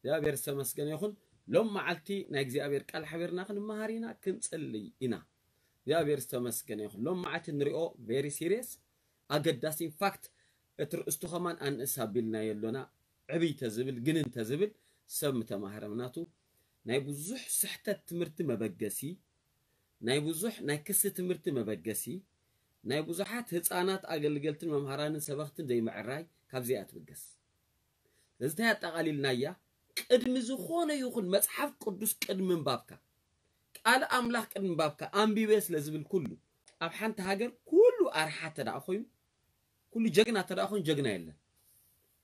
እግዚኣብሔር ዝተመስገነ ይኹን። ሎም መዓልቲ ናይ እግዚኣብሔር ቃል ሓቢርና ክንመሃር ኢና፣ ክንጽልይ ኢና። እግዚኣብሔር ዝተመስገነ ይኹን። ሎም መዓልቲ ንሪኦ very serious፣ ኣገዳሲ። In fact እቲ ርእስቱ ከማን ኣንእስ ኣቢልናዮ ኣሎና። ዕብይ ተዝብል፣ ግንን ተዝብል ሰብ ምተማህረ። ምናቱ ናይ ብዙሕ ስሕተት ትምህርቲ መበገሲ፣ ናይ ብዙሕ ናይ ክሲ ትምህርቲ መበገሲ፣ ናይ ብዙሓት ህፃናት ኣገልገልትን መምሃራንን ሰበኽትን ዘይምዕራይ ካብዚኣ ትብገስ። ስለዚ እንታይ ኣጠቓሊልናያ? ቅድሚ ዝኾነ ይኹን መጽሓፍ ቅዱስ ቅድሚ ምንባብካ፣ ቃል ኣምላኽ ቅድሚ ምንባብካ፣ ኣንቢበ ስለ ዝብል ኩሉ፣ ኣብ ሓንቲ ሃገር ኩሉ ኣርሓ ተደኣ ኮይኑ፣ ኩሉ ጀግና ተደኣ ኮይኑ ጀግና የለን።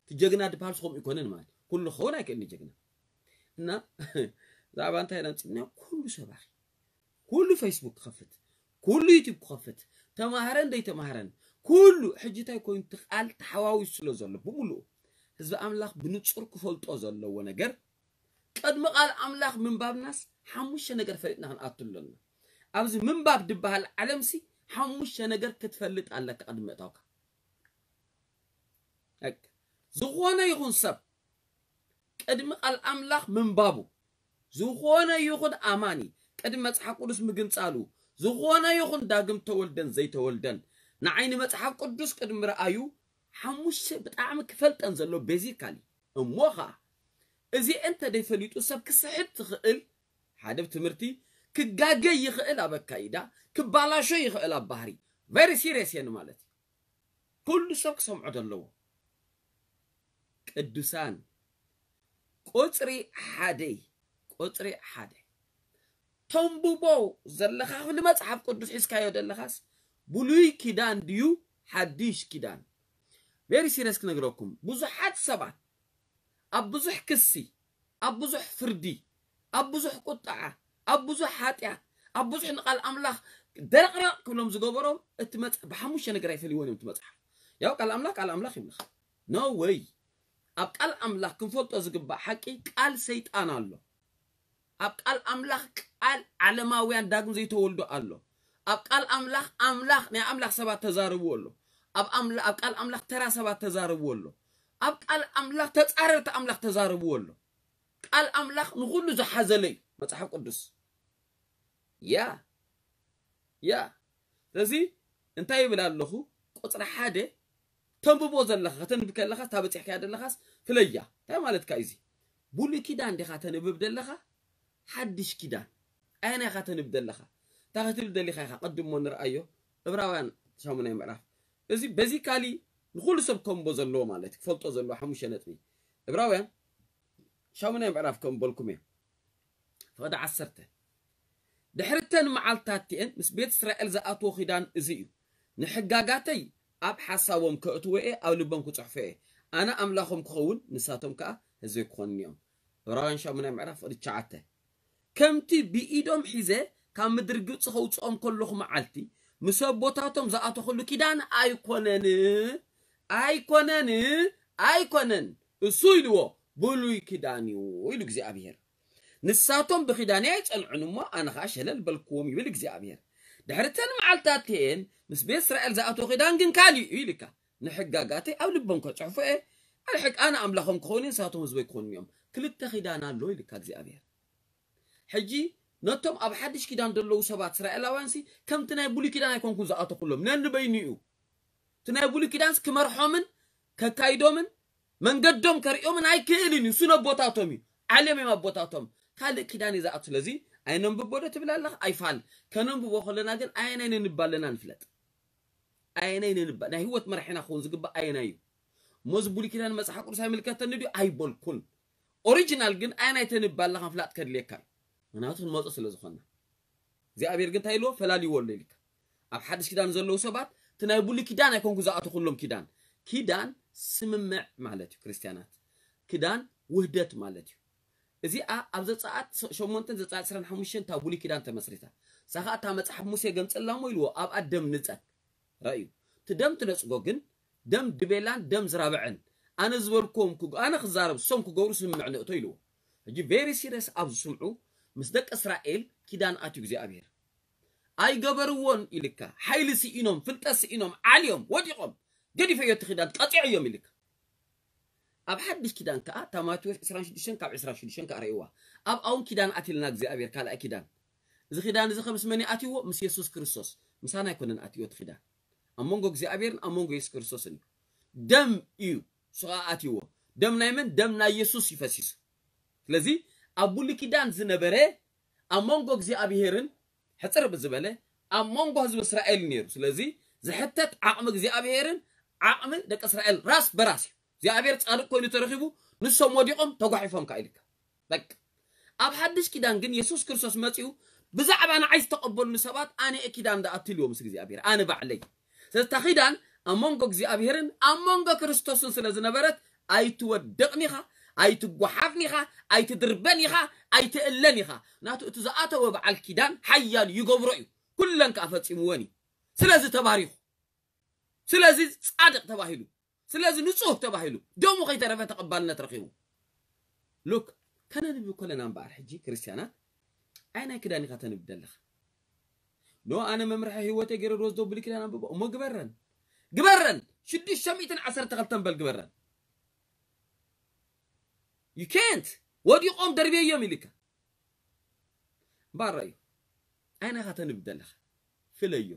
እቲ ጀግና ድበሃል ከምኡ ይኮነን ማለት ኩሉ ክኸውን ኣይክእልን ጀግና። እና ዛዕባ እንታይ ኢና ኣምፂእና? ኩሉ ሰባኺ፣ ኩሉ ፌስቡክ ክኸፍት፣ ኩሉ ዩቲዩብ ክኸፍት፣ ተማሃረን ዘይተማሃረን ኩሉ ሕጂ እንታይ ኮይኑ? እቲ ቃል ተሓዋዊሱ ስለ ዘሎ ብምሉኡ ህዝቢ ኣምላኽ ብንጹር ክፈልጦ ዘለዎ ነገር፣ ቅድሚ ቃል ኣምላኽ ምንባብናስ ሓሙሽተ ነገር ፈሊጥና ክንኣቱ ኣለና። ኣብዚ ምንባብ ድበሃል ዓለምሲ ሓሙሽተ ነገር ክትፈልጥ ኣለካ ቅድሚ ምእታውካ። በቃ። ዝኾነ ይኹን ሰብ ቅድሚ ቃል ኣምላኽ ምንባቡ፣ ዝኾነ ይኹን ኣማኒ ቅድሚ መጽሓፍ ቅዱስ ምግንጻሉ፣ ዝኾነ ይኹን ዳግም ተወልደን ዘይተወልደን ንዓይኒ መጽሓፍ ቅዱስ ቅድሚ ረኣዩ፣ ሓሙሽተ ብጣዕሚ ክፈልጠን ዘሎ ቤዚካሊ። እሞ ኸዓ እዚ እንተ ደይፈሊጡ ሰብ ክስሕት ትኽእል፣ ሓደ ብትምህርቲ ክጋገ ይኽእል፣ ኣብ ኣካይዳ ክባላሾ ይኽእል፣ ኣብ ባህሪ very serious እየን ማለት እዩ። ኩሉ ሰብ ክሰምዖ ዘለዎ። ቅዱሳን፣ ቁጽሪ ሓደ፣ ቁጽሪ ሓደ ተንብቦ ዘለኻ ክፍሊ መጽሓፍ ቅዱስ ሒዝካዮ ዘለኻስ ብሉይ ኪዳን ድዩ ሓድሽ ኪዳን? very serious ክነግረኩም፣ ብዙሓት ሰባት ኣብ ብዙሕ ክሲ፣ ኣብ ብዙሕ ፍርዲ፣ ኣብ ብዙሕ ቁጥዓ፣ ኣብ ብዙሕ ሓጢኣት፣ ኣብ ብዙሕ ንቓል ኣምላኽ ደረቕረቕ ክብሎም ዝገበሮም እቲ መጽ-፣ ብሓሙሽተ ነገር ኣይፈልይዎን እዮም እቲ መጽሓፍ። ያው ቃል ኣምላኽ ቃል ኣምላኽ ይብልኻ። No way። ኣብ ቃል ኣምላኽ ክንፈልጦ ዝግባእ ሓቂ ቃል ሰይጣን ኣሎ። ኣብ ቃል ኣምላኽ ቃል ዓለማውያን ዳግም ዘይተወልዶ ኣሎ። ኣብ ቃል ኣምላኽ ኣምላኽ ናይ ኣምላኽ ሰባት ተዛርብዎ ኣሎ። ኣብ ኣምላ-፣ ኣብ ቃል ኣምላኽ ተራ ሰባት ተዛርብዎ ኣሎ። ኣብ ቃል ኣምላኽ ተጻረርቲ ኣምላኽ ተዛርብዎ ኣሎ። ቃል ኣምላኽ ንኹሉ ዝሓዘለ እዩ መጽሓፍ ቅዱስ። ያ ያ ስለዚ እንታይ ይብል ኣለኹ? ቁጽሪ ሓደ ተንብቦ ዘለኻ፣ ከተንብብ ከለኻስ፣ እታ በጺሕካያ ዘለኻስ ፍለያ። እንታይ ማለትካ እዩ እዚ? ብሉይ ኪዳን ዲኻ ተንብብ ዘለኻ? ሓድሽ ኪዳን ኣየናይ ኢኻ ተንብብ ዘለኻ? እንታይ ክትብል ደሊኻ ኢኻ? ቀድሞ ንርኣዮ። ዕብራውያን ሻሙናይ ምዕራፍ። እዚ ቤዚካሊ ንኹሉ ሰብ ከንቦ ዘለዎ ማለት እዩ፣ ክፈልጦ ዘለዎ ሓሙሽተ ነጥቢ። ዕብራውያን ሻሙናይ ምዕራፍ ከንበልኩም እየ። ፍቕዲ ዓሰርተ። ድሕሪ እተን መዓልትታት እቲኤን ምስ ቤት እስራኤል ዝኣትዎ ኪዳን እዚ እዩ። ንሕጋጋተይ ኣብ ሓሳቦም ከእትዎ እየ፣ ኣብ ልቦም ክጽሕፎ እየ። ኣነ ኣምላኾም ክኸውን፣ ንሳቶም ከኣ ህዝበይ ክኾኑኒ እዮም። ዕብራውያን ሻሙናይ ምዕራፍ ፍቕዲ ትሽዓተ። ከምቲ ብኢዶም ሒዘ ካብ ምድሪ ግብጺ ከውጽኦም ከለኹ መዓልቲ፣ ምስ ኣቦታቶም ዝኣተኹሉ ኪዳን ኣይኮነን፣ ኣይኮነን፣ ኣይኮነን። እሱ ኢልዎ ብሉይ ኪዳን እዩ ኢሉ እግዚኣብሔር። ንሳቶም ብኪዳነይ ኣይጸንዑን እሞ ኣነ ኸኣ ሸለል በልክዎም ይብል እግዚኣብሔር። ድሕሪ እተን መዓልትታት እቲኤን ምስ ቤት እስራኤል ዝኣተዎ ኪዳን ግን ካልእ እዩ ኢልካ። ንሕጋጋተይ ኣብ ልቦም ከጽሕፎ እየ። ኣነ ሕግ-፣ ኣነ ኣምላኾም ክኸውን እየ፣ ንሳቶም ህዝበይ ክኾኑ እዮም። ክልተ ኪዳን ኣሎ ኢልካ እግዚኣብሔር። ሕጂ ነቶም ኣብ ሓድሽ ኪዳን ዘለዉ ሰባት እስራኤላውያንሲ ከምቲ ናይ ብሉይ ኪዳን ኣይኮንኩን ዝኣተኹሎም፣ ነንበይኑ እዩ። እቲ ናይ ብሉይ ኪዳንስ ክመርሖምን ከካይዶምን መንገዶም ከርእዮምን ኣይክእልን እዩ። እሱ ነቦታቶም እዩ፣ ዓለም እዮም ኣቦታቶም። ካልእ ኪዳን እዩ ዝኣቱ። ስለዚ ኣይነንብቦ ዶ ትብል ኣለኻ? ኣይፋል። ከነንብቦ ከለና ግን ኣየናይ ነንብ ኣለና ንፍለጥ። ኣየናይ ነንብ፣ ናይ ህይወት መራሒና ክኸውን ዝግባእ ኣየናይ እዩ? እሞ እዚ ብሉይ ኪዳን መጽሓፍ ቅዱስ ኣይምልከተኒ ድዩ? ኣይበልኩን። ኦሪጂናል ግን ኣየናይ ተንብ ኣለኻ ምፍላጥ ከድልየካ እዩ። ምክንያቱ ክንመጾ ስለ ዝኾንና። እግዚኣብሔር ግን እንታይ ኢልዎ? ፈላልይዎ ኣሎ ኢልካ። ኣብ ሓድሽ ኪዳን ዘለዉ ሰባት እቲ ናይ ብሉይ ኪዳን ኣይኮንኩ ዝኣተኹሎም ኪዳን። ኪዳን ስምምዕ ማለት እዩ ክርስትያናት። ኪዳን ውህደት ማለት እዩ። እዚኣ ኣብ ዘጸኣት ሸሞንተን ዘጸኣት ዕስራን ሓሙሽተን እታ ብሉይ ኪዳን ተመስሪታ። እሳ ኸኣ እታ መጽሓፍ ሙሴ ገንጽላ እሞ ኢልዎ ኣብኣ ደም ንጸግ። ረእዩ። እቲ ደም ትነጽጎ ግን ደም ድቤላን ደም ዝራብዕን ኣነ ዝበልክዎም ክግ-፣ ኣነ ክዛረብ እሶም ክገብሩ ስምምዕ ንእቶ ኢልዎ። ሕጂ ቬሪ ሲሪየስ ኣብ ዝስምዑ ምስ ደቂ እስራኤል ኪዳን ኣትዩ እግዚኣብሔር። ኣይገበርዎን ኢልካ፣ ሓይሊ ስኢኖም፣ ፍልጠት ስኢኖም፣ ዓልዮም፣ ወዲቖም፣ ገዲፈዮ እቲ ኪዳን፣ ቀጺዐዮም ኢልካ። ኣብ ሓድሽ ኪዳን ከኣ፣ እታ ማቴዎስ ዕስራን ሽዱሽተን ካብ ዕስራን ሽዱሽተን ከኣ ርእይዋ። ኣብ ኣውን ኪዳን ኣትልና እግዚኣብሔር፣ ካልኣይ ኪዳን። እዚ ኪዳን እዚ ከ ምስ መን እዩ ኣትይዎ? ምስ የሱስ ክርስቶስ። ምሳና ኣይኮነን ኣትይዎ እቲ ኪዳን። ኣብ መንጎ እግዚኣብሔርን ኣብ መንጎ የሱስ ክርስቶስን እዩ። ደም እዩ፣ እሱ ከኣ ኣትይዎ። ደም ናይ መን? ደም ናይ የሱስ እዩ ፈሲሱ። ስለዚ ኣብ ብሉይ ኪዳን ዝነበረ ኣብ መንጎ እግዚኣብሔርን ሕጽር ብዝበለ ኣብ መንጎ ህዝቢ እስራኤል ነይሩ። ስለዚ ዝሕተት ዓቕሚ እግዚኣብሔርን ዓቕሚ ደቂ እስራኤል ራስ በራስ እዩ። እግዚኣብሔር ጻድቅ ኮይኑ ተረኺቡ፣ ንሶም ወዲቖም ተጓሒፎም ከኣ ኢልካ። በቃ። ኣብ ሓድሽ ኪዳን ግን የሱስ ክርስቶስ መጺኡ፣ ብዛዕባ ንዓይ ዝተቐበሉኒ ሰባት ኣነ እየ ኪዳን ዝኣቱ ኢልዎ ምስ እግዚኣብሔር፣ ኣነ ባዕለይ። ስለዚ እታ ኪዳን ኣብ መንጎ እግዚኣብሔርን ኣብ መንጎ ክርስቶስን ስለ ዝነበረት፣ ኣይትወድቕን ኢኻ፣ ኣይትጓሓፍን ኢኻ፣ ኣይትድርበን ኢኻ፣ ኣይትእለን ኢኻ። ናቱ እቲ ዝኣተወ በዓል ኪዳን ሓያል ይገብሮ እዩ፣ ኩለን ከኣ ፈጺምወን እዩ። ስለዚ ተባሪኹ፣ ስለዚ ጻድቕ ተባሂሉ፣ ስለዚ ንጹህ ተባሂሉ፣ ደሙ ከይተረፈ ተቐባልነት ረኺቡ። ሉክ፣ ከነንብብ ከለና እምበኣር ሕጂ ክርስትያናት፣ ኣየናይ ክዳን ኢኻ ተንብብ ዘለኻ? ኖ፣ ኣነ መምርሒ ህይወተይ ገይረ ዶ ዝዶ ብሉይ ኪዳን ኣንብቦ? እሞ ግበረን። ግበረን። ሽዱሽተ ሚእትን ዓሰርተ ክልተን በል ግበረን። You can't። ወዲቖም ደርብየዮም ኢልካ። እምበኣር ራእዩ። ኣየናይ ኢኻ ተንብብ ዘለኻ? ፍለዮ።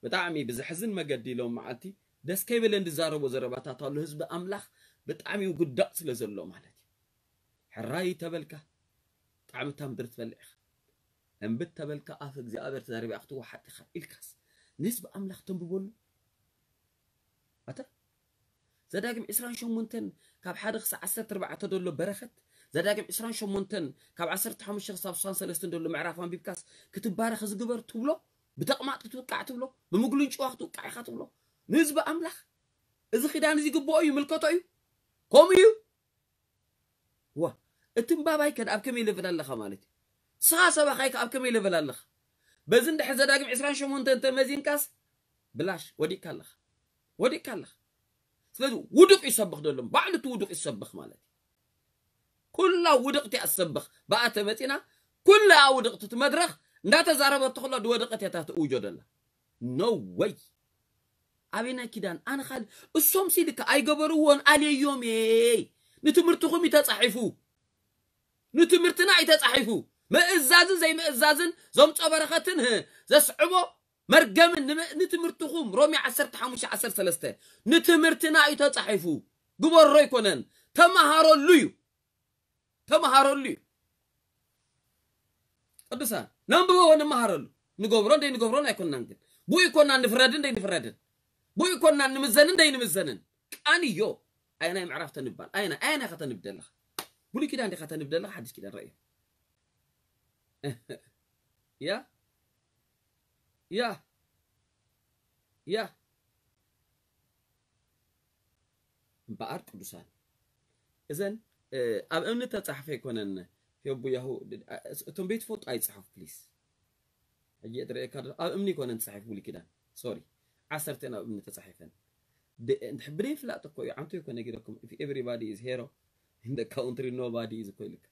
ብጣዕሚ ብዘሕዝን መገዲ ኢሎም መዓልቲ ደስ ከይበለን ዝዛረቦ ዘረባታት ኣሎ። ህዝቢ ኣምላኽ ብጣዕሚ ውግዳእ ስለ ዘሎ ማለት እዩ። ሕራይ ተበልካ፣ ብጣዕሚ እታ ምድሪ ትበልዕ ኢኻ። እምብት ተበልካ፣ ኣፍ እግዚኣብሔር ተዛሪባ ክትወሓጥ ኢኻ ኢልካስ፣ ንህዝቢ ኣምላኽ ተንብበሉ። ኣታ ዘዳግም ዕስራን ሸሞንተን ካብ ሓደ ክሳብ ዓሰርተ ኣርባዕተ ዘሎ በረኸት፣ ዘዳግም ዕስራን ሸሞንተን ካብ ዓሰርተ ሓሙሽተ ክሳብ ስሳን ሰለስተን ዘሎ ምዕራፍ ኣንቢብካስ፣ ክትባረኽ ዝግበር ትብሎ፣ ብተቕማጥ ክትውቃዕ ትብሎ፣ ብምጉልንጭዋ ክትውቃዕ ኢኻ ትብሎ። ንህዝቢ ኣምላኽ እዚ ኪዳን እዚ ይግብኦ እዩ፣ ይምልከቶ እዩ፣ ከምኡ እዩ። ዋ፣ እቲ እምባባይ ከ ኣብ ከመይ ሌቨል ኣለኻ ማለት እዩ? ስኻ ሰባኻይ ከ ኣብ ከመይ ሌቨል ኣለኻ? በዚ እንድሕር ዘዳግም ዕስራን ሸሞንተን እንተመዚንካስ፣ ብላሽ ወዲቕካ ኣለኻ። ወዲቕካ ኣለኻ። ስለዚ ውዱቕ ይሰብኽ ደሎ፣ ባዕሉ እቲ ውዱቕ ይሰብኽ ማለት እዩ። ኩላ ውድቕቲ እያ ትሰብኽ። ብኣ ተመጺና፣ ኩላ ውድቕቲ እቲ መድረኽ እንዳተዛረበት ተኽሎ ዝወደቐት እያ እታ ትእውጆ ደላ። No way። ኣበየናይ ኪዳን? ኣነ ካልእ፣ እሶም ሲልካ ኣይገበርዎን፣ ኣልየዮም እየ። ንትምህርትኹም እዩ ተጻሒፉ። ንትምህርትና እዩ ተጻሒፉ። ምእዛዝን ዘይምእዛዝን ዘምጾ በረኸትን፣ ህ፣ ዘስዕቦ መርገምን ንመ-፣ ንትምህርትኹም፣ ሮሜ ዓሰርተ ሓሙሽተ ዓሰርተ ሰለስተ፣ ንትምህርትና እዩ ተጻሒፉ። ግበሮ ኣይኮነን፣ ተመሃረሉ እዩ። ተመሃረሉ እዩ። ቅዱሳን፣ ነንብቦ ወንመሃረሉ። ንገብሮ እንደይ ንገብሮን ኣይኮንናን ግን። ብኡ ይኮንና ንፍረድን እንደይ ንፍረድን። ብኡ ይኮንና ንምዘንን እንደይ ንምዘንን። ቃንዮ። ኣየናይ ምዕራፍ ተንባል? ኣየናይ፣ ኣየናይ ኢኻ ተንብ ደለኻ? ብሉይ ኪዳን ዲኻ ተንብ ደለኻ? ሓድሽ ኪዳን ረእዮ። ያ? ያ? ያ? እምበኣር ቅዱሳን፣ እዘን፣ እ፣ ኣብ እምኒ ተጻሕፈ ኣይኮነን። ዮቡ ያሁ፣ እ፣ እቶም ቤት ፎቶ ኣይጽሓፉ፣ ፕሊስ። ሕጂ እየ ዝርእየካ ዘለኹ፣ ኣብ እምኒ ኣይኮነን ተጻሒፉ ብሉይ ኪዳን። ሶሪ፣ ዓሰርተን ኣብ እምኒ ተጻሒፈን። ድ-፣ እንድሕ-፣ ብደይ ፍላጥ እኮ እዩ፣ ዓንቱ ይኮነ ነጊረኩም። If everybody is hero in the country, nobody is እኮ ኢልካ።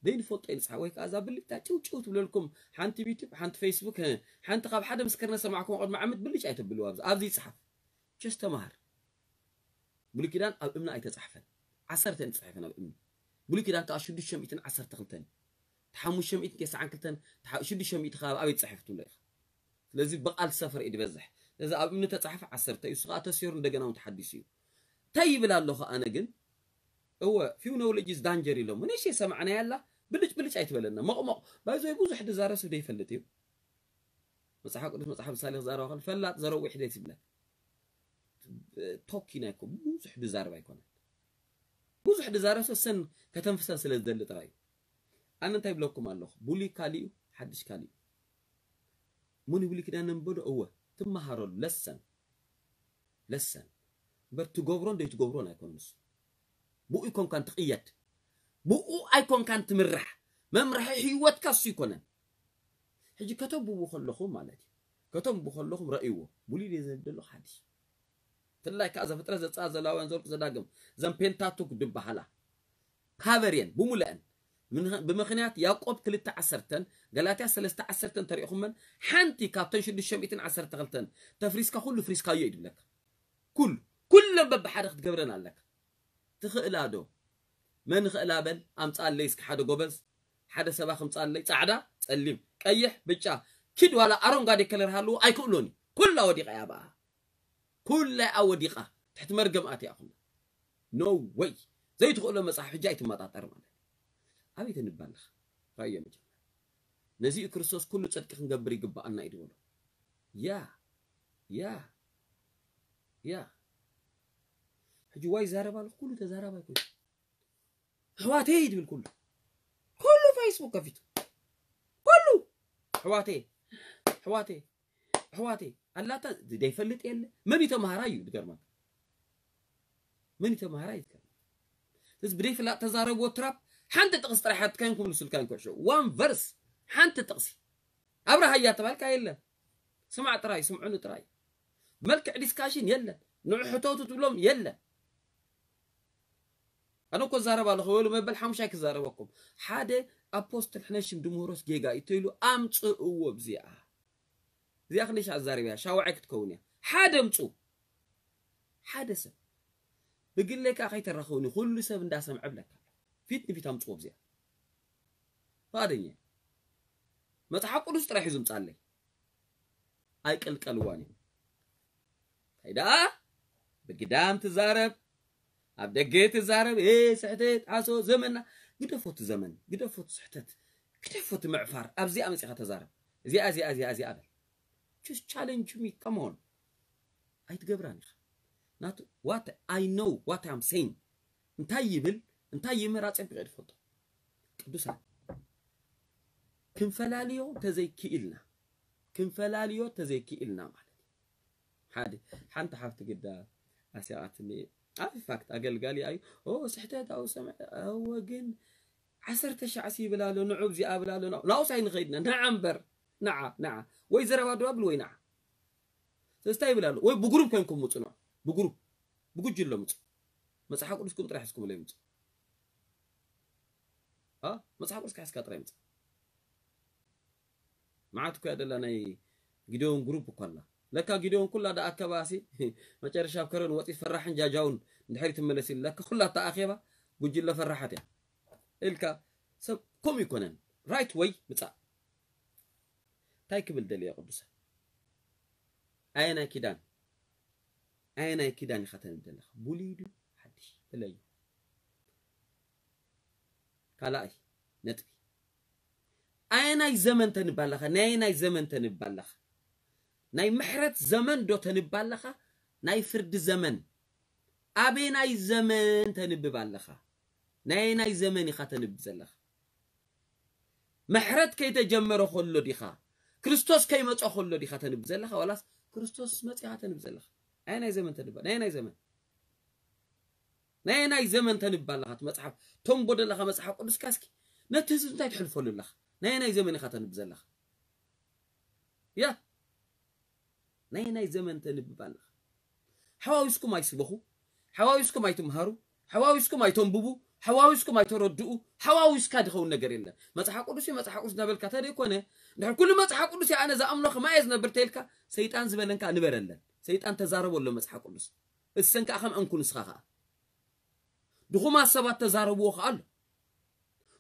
ደይ ንፈልጦ እዩ ንጽሓፍ፣ ወይ ከኣ እዛ ብልጭታ ጭው ጭው ትብለልኩም፣ ሓንቲ ዩቱብ፣ ሓንቲ ፌስቡክ፣ እ፣ ሓንቲ ካብ ሓደ ምስክርነት ሰማዕኩም ቅድሚ ዓመት ብልጭ ኣይተብልዋ ኣብዚ፣ ኣብዚ ይጽሓፍ። ቸስ ተማሃር። ብሉይ ኪዳን ኣብ እምኒ ኣይተጻሕፈን። ዓሰርተ እየን ተጻሒፈን ኣብ እምኒ። ብሉይ ኪዳን ከኣ ሽዱሽተ ሚእትን ዓሰርተ ክልተን። ሓሙሽተ ሚእትን ተስዓን ክልተን፣ ተሓ-፣ ሽዱሽተ ሚእቲ ከባቢ ኣበይ ተጻሒፉ ትብሎ ኢኻ? ስለዚ ብቓል ሰፈር እዩ ዝበዝሕ። ስለዚ ኣብ እምኒ ተጻሕፈ ዓሰርተ እዩ፣ እሱ ከኣ ተሰይሩ እንደገና እውን ተሓዲሱ እዩ። እንታይ ይብል ኣለኹ ኣነ ግን? እወ፣ few knowledge is danger ኢሎም። ንእሽተይ ሰማዕናያ ኣላ፣ ብልጭ ብልጭ ኣይትበለና። መቕመቕ። ባይዞይ ብዙሕ ዝዛረብ ሰብ ዘይፈልጥ እዩ። መጽሓፍ ቅዱስ መጽሓፍ ምሳሌ ክዛረባ ከሎ፣ ፈላጥ ዘረዊሕ ደስ ይብለካ። ቶኪን ኣይኮ-፣ ብዙሕ ድዛረብ ኣይኮነን። ብዙሕ ድዛረብ ሰብ ሰን ከተንፍሰን ስለ ዝደሊ ጥራይ እዩ። ኣነ እንታይ ይብለኩም ኣለኹ? ብሉይ ካሊእ እዩ፣ ሓድሽ ካሊእ እዩ። ሙን ብሉይ ኪዳን ነንበዶ? እወ፣ ትመሃረሉ፣ ለሰን። ለሰን። እምበር ትገብሮን ዘይትገብሮን ኣይኮነን ንሱ። ብኡ ኣይኮንካን ትቕየድ። ብኡ ኣይኮንካን ትምራሕ። መምርሒ ህይወትካ እሱ ይኮነን። ሕጂ ከተንብቡ ከለኹም ማለት እዩ። ከተንብቡ ከለኹም ረእይዎ። ብሉይ ድየ ዘንብ ዘሎ ሓድሽ። ብፍላይ ከኣ ዘፍጥረት፣ ዘጸኣት፣ ዘሌዋውያን፣ ዘኍልቍ፣ ዘዳግም፣ ዘን ፔንታቱክ ድበሃላ። ፓቨር እየን፣ ብምሉአን። ምን-፣ ብምኽንያት ያዕቆብ ክልተ ዓሰርተን፣ ገላትያ ሰለስተ ዓሰርተን ተሪእኹመን፣ ሓንቲ ካብተን ሽዱሽተ ሚእትን ዓሰርተ ክልተን ተፍሪስካ፣ ኩሉ ፍሪስካዮ እዩ ድብለካ። ኩሉ፣ ኩለን በብሓደ ክትገብረን ኣለካ። ትኽእላ ዶ? መን ይኽእላ በል ኣምጻለይ እስኪ ሓደ ጎበዝ፣ ሓደ ሰባ ክምጻለይ፣ ጻዕዳ፣ ጸሊም፣ ቀይሕ፣ ብጫ፣ ኪድ ዋላ ኣሮንጋዴ ከለር ሃልዎ ኣይክእሎን እዩ። ኩላ ወዲቓ እያ ብኣ። ኩላ እያ ወዲቓ። ትሕቲ መርገም ኣትያ ኩላ። No way። ዘይትኽእሎ መጽሓፍ ሕጂ ኣይትመጣጠር ማለት እዩ። ኣበይ ተንባልኽ? ራእዮ መጀመር። ነዚ እዩ ክርስቶስ ኩሉ ጽድቂ ክንገብር ይግባኣና እዩ ዝበሎ። ያ፣ ያ፣ ያ። ሕጂ ዋይ ይዛረብ ኣሎ፣ ኩሉ ተዛራባይ ኮይኑ። ኣሕዋተይ ድብል ኩሉ። ኩሉ ፌስቡክ ከፊቱ። ኩሉ። ኣሕዋተይ፣ ኣሕዋተይ፣ ኣሕዋተይ። ኣላታ ዘይፈልጥ የለ። መን እዩ ተማሃራይ እዩ ዝገርመካ። መን እዩ ተማሃራይ እዩ ዝገርመካ። እዚ ብደይ ፍላጥ ተዛረብዎ ትራፕ ሓንቲ ጥቕሲ ጥራሕ ኣትካይን ክምልሱልካ ይንኮሾ። One verse ሓንቲ ጥቕሲ። ኣብርሃያ ተባልካ የለን። ስማዕ ጥራይ፣ ስምዑኒ ጥራይ። መልክዕ ዲስካሽን የለን። ንዑ ሕተቱ ትብሎም የለን። ኣነ እኮ እዛረብ ኣለኹ፣ ወሉ መበል ሓሙሻይ ክዛረበኩም። ሓደ ኣፖስትል ሕነሽም ድምህሮስ ጌጋ እዩ ተይሉ ኣምጽእዎ ብዚኣ። እዚኣ ክንደይ ሻዕ ዛረብያ፣ ሻውዓይ ክትከውን እያ። ሓደ ኣምጹ። ሓደ ሰብ። ብግለይ ከኣ ከይተራኸቡኒ፣ ኩሉ ሰብ እንዳሰምዐ ብለካ። ፊት ንፊት ኣምጽዎ ብዚኣ። ፍቓደኛ እየ። መጽሓፍ ቅዱስ ጥራሕ እዩ ዝምጻለይ። ኣይቀልቀልዋን እዮም። እንታይ ደኣ ብግዳም ትዛረብ፣ ኣብ ደገ ትዛረብ፣ "ኤ፣ ስሕተት፣ ዓሶ፣ ዘመንና፣ ግደፎ እቲ ዘመን፣ ግደፎ እቲ ስሕተት፣ ግደፎ እቲ ምዕፋር፣ ኣብዚኣ መጺኻ ተዛረብ። እዚኣ፣ እዚኣ፣ እዚኣ፣ እዚኣ በል። Just challenge me, come on." ኣይትገብራን ኢኻ። ናቱ፣ what I know, what I'm saying። እንታይ ይብል፣ እንታይ ይምህር ኣጸቢቐ እየ ዝፈልጦ። ቅዱሳን፣ ክንፈላልዮ ተዘይክኢልና፣ ክንፈላልዮ ተዘይክኢልና ማለት እዩ። ሓደ፣ ሓንቲ ሓፍቲ ግዳ ኣስያቓትኒ። ኣብ ፋክት ኣገልጋሊ ኣዩ፣ "ኦ፣ ስሕተት ኣብኡ ሰምዐ፣ እወ፣ ግን ዓሰርተ ሻዕ ሲ ይብል ኣሎ፣ ንዑ፣ ኣብዚኣ ይብል ኣሎ፣ ንዑ፣ ናብኡስ ኣይንኸይድና፣ ንዓ እምበር፣ ንዓ፣ ንዓ። ወይ ዘረባ ደው ኣብል ወይ ንዓ። ስለዚ እንታይ ይብል ኣሎ? ወይ ብግሩፕ ኮይንኩም ምጹ፣ ንዑ፣ ብግሩፕ፣ ብጉጅለ ምጹ። መጽሓፍ ቅዱስኩም ጥራሕ ሒዝኩምለይ ምጹ። አ? መጽሓፍ ቅዱስካ ሒዝካ ጥራይ ምጻእ። መዓት እኮ እያ ደላ ናይ ጊደዎን ግሩፕ እኮ ኣላ። ለካ ጊደዎን ኩላ ደኣ ኣከባሲ መጨረሻ ኣብ ከረን ወጺ ፈራሕን ጃጃውን እንድሕር ትመለስ ኢሉ። ለካ ኩላ እታ ኣኼባ ጉጅለ ፈራሓት እያ። ኢልካ ሰብ ከምኡ ይኮነን። ራይት ወይ ምጻእ። እንታይ ክብል ደልየ ቅዱሳን? ኣየናይ ኪዳን? ኣየናይ ኪዳን ኢኻ ተንብ ዘለኻ? ብሉይ ድዩ ሓድሽ? ፍለዩ። ካልኣይ ነጥቢ። ኣየናይ ዘመን ተንብ ኣለኻ? ናይ ኣየናይ ዘመን ተንብ ኣለኻ? ናይ ምሕረት ዘመን ዶ ተንብ ኣለኻ? ናይ ፍርዲ ዘመን? ኣበየናይ ዘመን ተንብብ ኣለኻ? ናይ ኣየናይ ዘመን ኢኻ ተንብ ዘለኻ? ምሕረት ከይተጀመረ ከሎ ዲኻ? ክርስቶስ ከይመጸ ከሎ ዲኻ ተንብ ዘለኻ? ዋላስ ክርስቶስ መጺኻ ተንብ ዘለኻ? ናይ ናይ ዘመን ተንባ፣ ናይ ናይ ዘመን? ናይ ናይ ዘመን ተንባ ኣለኻ? እቲ መጽሓፍ፣ ተንቦ ዘለኻ መጽሓፍ ቅዱስካ እስኪ ነቲ ህዝቢ እንታይ ትሕልፈሉ ኣለኻ? ናይ ናይ ዘመን ኢኻ ተንብ ዘለኻ? ያ፣ ናይ ናይ ዘመን ተንብብ ኣለኻ? ሓዋዊስኩም ኣይስበኹ፣ ሓዋዊስኩም ኣይትምሃሩ፣ ሓዋዊስኩም ኣይተንብቡ፣ ሓዋዊስኩም ኣይተረድኡ። ሓዋዊስካ ድኸውን ነገር የለን። መጽሓፍ ቅዱስ እዩ፣ መጽሓፍ ቅዱስ እናበልካ ተደይኮነ፣ እንድሕር ኩሉ መጽሓፍ ቅዱስ እዩ ኣነ ዝኣምኖ ከማየ ዝነብር ተይልካ፣ ሰይጣን ዝበለንካ ንበረለን። ሰይጣን ተዛረቦ ኣሎ መጽሓፍ ቅዱስ። እሰን ከኣ ከም እንኩ ንስኻ ከኣ። ድኹማት ሰባት ተዛረብዎ ከኣ ኣሎ።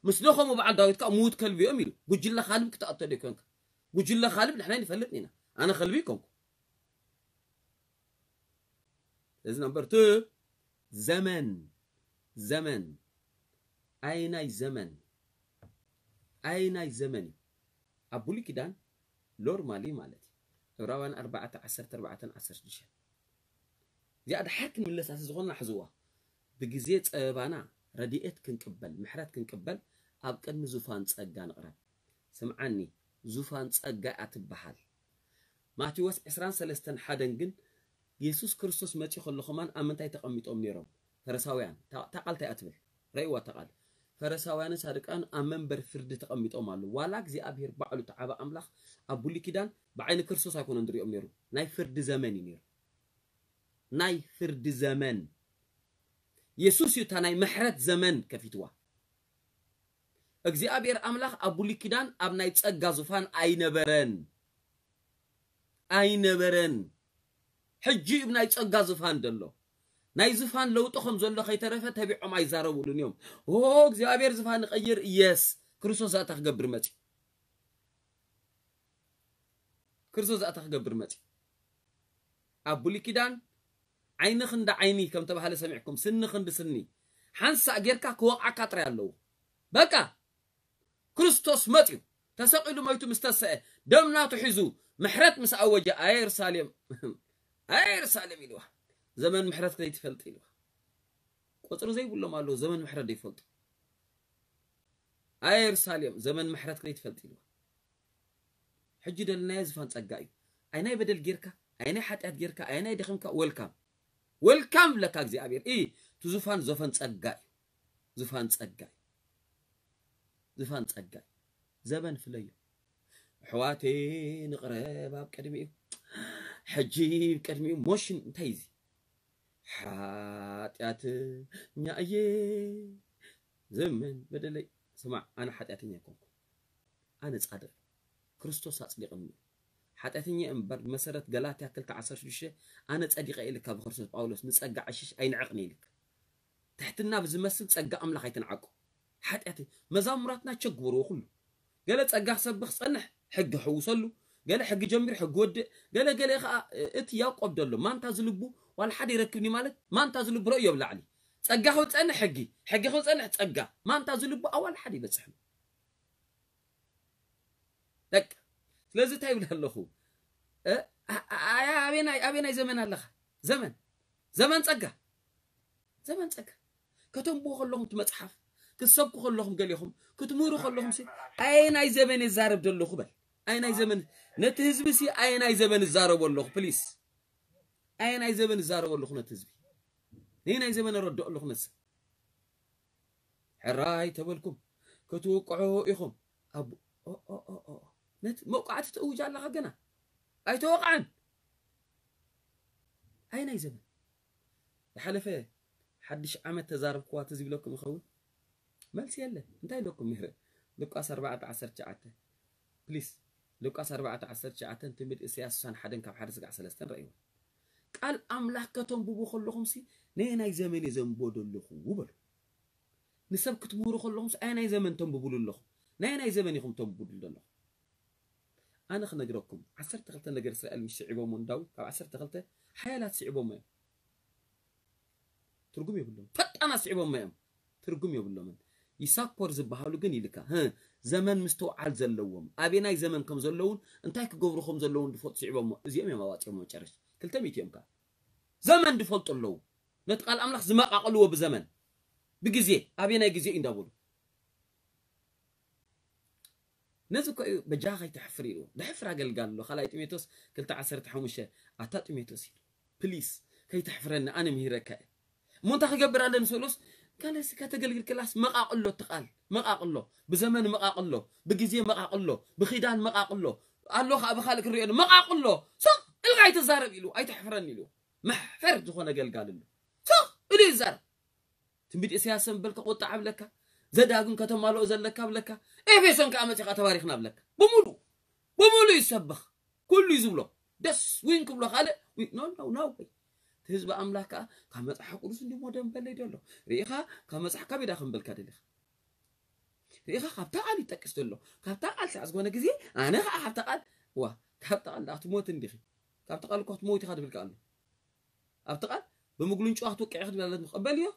ምስ ደኸሙ በዓል ዳዊት ከኣ ምዉት ከልቢ እዮም ኢሉ። ጉጅለ ካልብ ክትኣቶ ደይኮንካ። ጉጅለ ካልብ ንሕና ንፈልጥ ኢና። ኣነ ከልቢ ይኮንኩ። እዚ ነምበር ቱ፣ ዘመን፣ ዘመን፣ ኣይናይ ዘመን፣ ኣይናይ ዘመን እዩ። ኣብ ብሉይ ኪዳን ኖርማሊ ማለት እዩ። ዕብራውያን ኣርባዕተ፣ ዓሰርተ ኣርባዕተን ዓሰርተ ሽዱሽተን። እዚኣ ድሓር ክንምለሳ ዝኾንና ሕዝዋ። ብግዜ ጸበባና ረድኤት ክንቅበል፣ ምሕረት ክንቅበል ኣብ ቅድሚ ዙፋን ጸጋ ንቕረብ። ስምዓኒ፣ ዙፋን ጸጋ እያ ትበሃል። ማቴዎስ ዕስራን ሰለስተን ሓደን ግን የሱስ ክርስቶስ መጺኡ ከሎ ከማን ኣብ ምንታይ ተቐሚጦም ነይሮም? ፈሪሳውያን። እታ፣ እታ ቃል እንታይ እያ ትብል? ረእይዋ እታ ቃል። ፈሪሳውያንን ሳዱቃን ኣብ መንበር ፍርዲ ተቐሚጦም ኣለዉ። ዋላ እግዚኣብሄር ባዕሉ እቲ ዓቢ ኣምላኽ ኣብ ብሉይ ኪዳን ብዓይኒ ክርስቶስ ኣይኮነን ዝሪኦም ነይሩ። ናይ ፍርዲ ዘመን እዩ ነይሩ። ናይ ፍርዲ ዘመን። የሱስ እዩ እታ ናይ ምሕረት ዘመን ከፊትዋ። እግዚኣብሔር ኣምላኽ ኣብ ብሉይ ኪዳን ኣብ ናይ ጸጋ ዙፋን ኣይነበረን። ኣይነበረን። ሕጂ እዩ ናይ ጸጋ ዙፋን ዘሎ። ናይ ዝፋን ለውጢ ከም ዘሎ ከይተረፈ ተቢዖም ኣይዛረቡሉን እዮም። ኦ እግዚኣብሔር ዝፋን ይቐይር። የስ፣ ክርስቶስ ዛእታ ክገብር መጽዩ። ክርስቶስ ዛእታ ክገብር መጽዩ። ኣብ ብሉይ ኪዳን ዓይኒ ክንዲ ዓይኒ ከም ተባህለ ሰሚዕኩም፣ ስኒ ክንዲ ስኒ፣ ሓንሳእ ጌርካ ክወቕዓካ ጥራይ ኣለዎ። በቃ፣ ክርስቶስ መጽዩ፣ ተሰቒሉ፣ መይቱ ምስ ተሰአ፣ ደም ናቱ ሒዙ፣ ምሕረት ምስ ኣወጀ፣ ኣየ የሩሳሌም፣ ኣየ የሩሳሌም ኢልዋ። ዘመን ምሕረት ከይትፈልጥ ኢልዋ። ቁጽሪ ዘይብሎም ኣለዉ፣ ዘመን ምሕረት ዘይፈልጡ። ኣየ የሩሳሌም፣ ዘመን ምሕረት ከይትፈልጥ ኢልዋ። ሕጂ ደልናዮ ዝፋን ጸጋ እዩ። ኣይናይ በደል ጌርካ፣ ኣይናይ ሓጢኣት ጌርካ፣ ኣይናይ ደኺምካ፣ ወልካም። ወልካም ብለካ እግዚኣብሔር። ኢ፣ እቲ ዙፋን ዘፈን ጸጋ እዩ። ዙፋን ጸጋ እዩ። ዙፋን ጸጋ እዩ። ዘመን ፍለዮ። ኣሕዋተይ ንቕረብ ኣብ ቅድሚኡ። ሕጂ ኣብ ቅድሚኡ ሞሽን እንታይ እዚ? ሓጢኣተኛ እየ። ዘመን በደለይ። ስማዕ፣ ኣነ ሓጢኣተኛ ኣይኮንኩ። ኣነ ጻድቕ። ክርስቶስ ኣጽዲቕኒ። ሓጢኣተኛ እምበር ብመሰረት ገላትያ ክልተ ዓሰርተ ሽዱሽተ ኣነ ጸዲቐ ኢልካ ብክርስቶስ ጳውሎስ ንጸጋ ዕሽሽ ኣይንዕቕን ኢልካ። ትሕትና ብዝመስል ጸጋ ኣምላኽ ኣይትንዓቁ። ሓጢኣት መዛሙራትና ቸግበርዎ ኩሉ። ገለ ጸጋ ክሰብኽ ጸንሕ ሕጊ ሕውሰሉ፣ ገለ ሕጊ ጀሚሩ ሕጊ ወድእ፣ ገለ ገለ ከኣ እቲ ያዕቆብ ደሎ ማንታ ዝልቡ ዋላ ሓደ ይረክብኒ ማለት ማንታ ዝልቡ ረእዮ ብላዕሊ። ጸጋ ክብል ጸንሕ ሕጊ፣ ሕጊ ክብል ጸንሕ ጸጋ፣ ማንታ ዝልቡ ኣዋል ሓደ ይበጽሕ። ደቅ ስለዚ እንታይ ይብል ኣለኹ? እ? ኣ- ኣ- ኣያ ኣበናይ ኣበናይ ዘመን ኣለኻ? ዘመን ዘመን ጸጋ ዘመን ጸጋ ከተንብቦ ከለኹም እቲ መጽሓፍ ክትሰብኩ ከለኹም ገሊኹም ክትምህሩ ከለኹም ሲ ኣየናይ ዘመን ይዛረብ ዘለኹ በል። ኣየናይ ዘመን ነቲ ህዝቢ ሲ ኣየናይ ዘመን ይዛረቦ ኣለኹ ፕሊስ ኣየናይ ዘመን ይዛረቦ ኣለኹ ነቲ ህዝቢ ነየናይ ዘመን ረድኦ ኣለኹ ነቲ ሰብ ሕራይ ተበልኩም ክትውቅዑ ኢኹም። ኣብ ኦ- ኦ- ኦ- ኦ። ነቲ መውቃዕቲ ትእውጅ ኣለኻ ገና ኣይተወቕዐን። ኣየናይ ዘመን ዝሓለፈ ሓድሽ ዓመት ተዛረብክዋ ትዝ ይብለኩም ይኸውን? መልሲ የለ። እንታይ ኢለኩም ነይረ? ሉቃስ ኣርባዕተ ዓሰርተ ትሽዓተ ፕሊስ ሉቃስ ኣርባዕተ ዓሰርተ ትሽዓተ ትንቢት ኢሳያስ ስሳን ሓደን ካብ ሓደ ስጋዕ ሰለስተን ረእይዎ። ቃል ኣምላኽ ከተንብቡ ከለኹም ሲ ነየናይ ዘመን እየ ዘንብቦ ዘለኹ በሉ። ንሰብ ክትምህሩ ከለኹም ሲ ኣየናይ ዘመን ተንብቡሉ ኣለኹም? ናይ ናይ ዘመን ኢኹም ተንብቡሉ ዘለኹም? ኣነ ክነግረኩም ዓሰርተ ክልተ ነገር እስራኤል ምስ ስዒቦሞ ንዳዊት ካብ ዓሰርተ ክልተ ሓያላት ስዒቦሞ እዮም። ትርጉም የብሎም። ፈጣናት ስዒቦሞ እዮም። ትርጉም የብሎምን። ይሳኮር ዝበሃሉ ግን ኢልካ ህ ዘመን ምስትውዓል ዘለዎም ኣበናይ ዘመን ከም ዘለውን እንታይ ክገብሩ ከም ዘለውን ዝፈልጡ ስዒቦሞ እዚኦም እዮም ኣዋፂኦም መጨረሽ ክልተ ሚእቲ እዮም ከ ዘመን ዝፈልጡ ኣለዉ። ነቲ ቃል ኣምላኽ ዝመቃቕልዎ ብዘመን ብግዜ ኣበናይ ግዜ እዩ እንዳበሉ ነዚ እኮ እዩ በጃኻ ከይትሕፍር ኢልዎ። ድሕፍር ኣገልጋሊ ኣሎ። ካልኣይ ጢሞቴዎስ ክልተ ዓሰርተ ሓሙሽተ ኣታ ጢሞቴዎስ ኢሉ ፕሊስ ከይትሕፍረኒ ኣነ ምሂረካ እየ። እሞ እንታይ ክገብር ኣለ ንሰሎስ ካልሲ ከተገልግል ክላስ መቃቅሎ ትቃል መቃቅሎ ብዘመን መቃቅሎ ብግዜ መቃቅሎ ብኺዳን መቃቅሎ ኣሎ ከዓ ብካልእ ክንሪኦ መቃቅሎ ስቕ ኢልካ ኣይትዛረብ ኢሉ ኣይትሕፍረኒ ኢሉ መሕፈር ዝኾነ ገልጋሊ ኣሎ ስቕ ኢሉ ይዛረብ ትንቢት ኢሳያስ እንበልካ ቁጣዕ ኣብለካ ዘዳግም ከተማልኦ ዘለካ ኣብለካ ኤፌሶን ከዓ መፂኻ ተባሪኽና ኣብለካ ብሙሉ ብሙሉ ይሰበኽ ኩሉ እዩ ዝብሎ ደስ ዊን ክብሎ ካልእ ኖ ኖ ኖ ወይ ህዝቢ ኣምላኽ ከዓ ካብ መፅሓፍ ቅዱስ እንዲሞ ደንበለይ ደሎ ርኢኻ ካብ መፅሓፍ ካብ ኢዳ ክንበልካ ደሊኻ ርኢኻ ካብታ ቃል ይጠቅስ ዘሎ ካብታ ቃል ሳዕ ዝኾነ ግዜ ኣነ ከዓ ካብታ ቃል ዋ ካብታ ቃል ዳ ክትሞት እንዲኺ ካብታ ቃል እኳ ክትሞት ኢኻ ትብል ከኣሎ ኣብቲ ቃል ብምግሉንጭዋ ክትውቅዒ ክትብል ኣለትኒ ክቕበል እዮ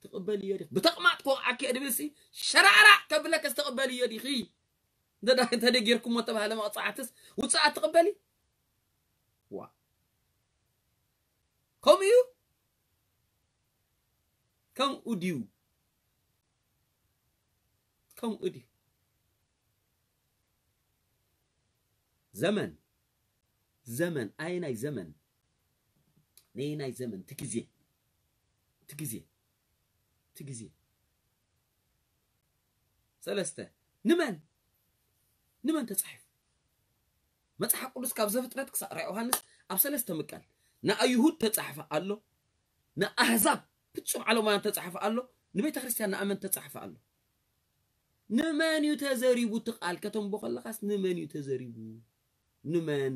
ትቕበል እዮ ዲኺ ብተቕማጥ ክወቕዓኪ እየ ድብል ሲ ሸራዕራዕ ከብለከስ ትቕበል እዮ ዲኺ እንተ ጌርኩሞ ተባህለ መቕፃዕትስ ውፅኣት ትቕበሊ ዋ ከምኡ እዩ ከምኡ ድዩ ከምኡ ድዩ ዘመን ዘመን ኣየናይ ዘመን ነየናይ ዘመን ትግዜ ትግዜ ትግዜ ሰለስተ ንመን ንመን ተጻሒፉ መጽሓፍ ቅዱስ ካብ ዘፍጥረት ክሳብ ራእይ ዮሃንስ ኣብ ሰለስተ ምቃል ንኣይሁድ ተጻሕፈ ኣሎ ንኣህዛብ ፍጹም ዓለማውያን ተጻሕፈ ኣሎ ንቤተ ክርስቲያን ንኣመን ተጻሕፈ ኣሎ ንመን እዩ ተዘሪቡ እቲ ቃል ከተንቦ ከለኻስ ንመን እዩ ተዘሪቡ ንመን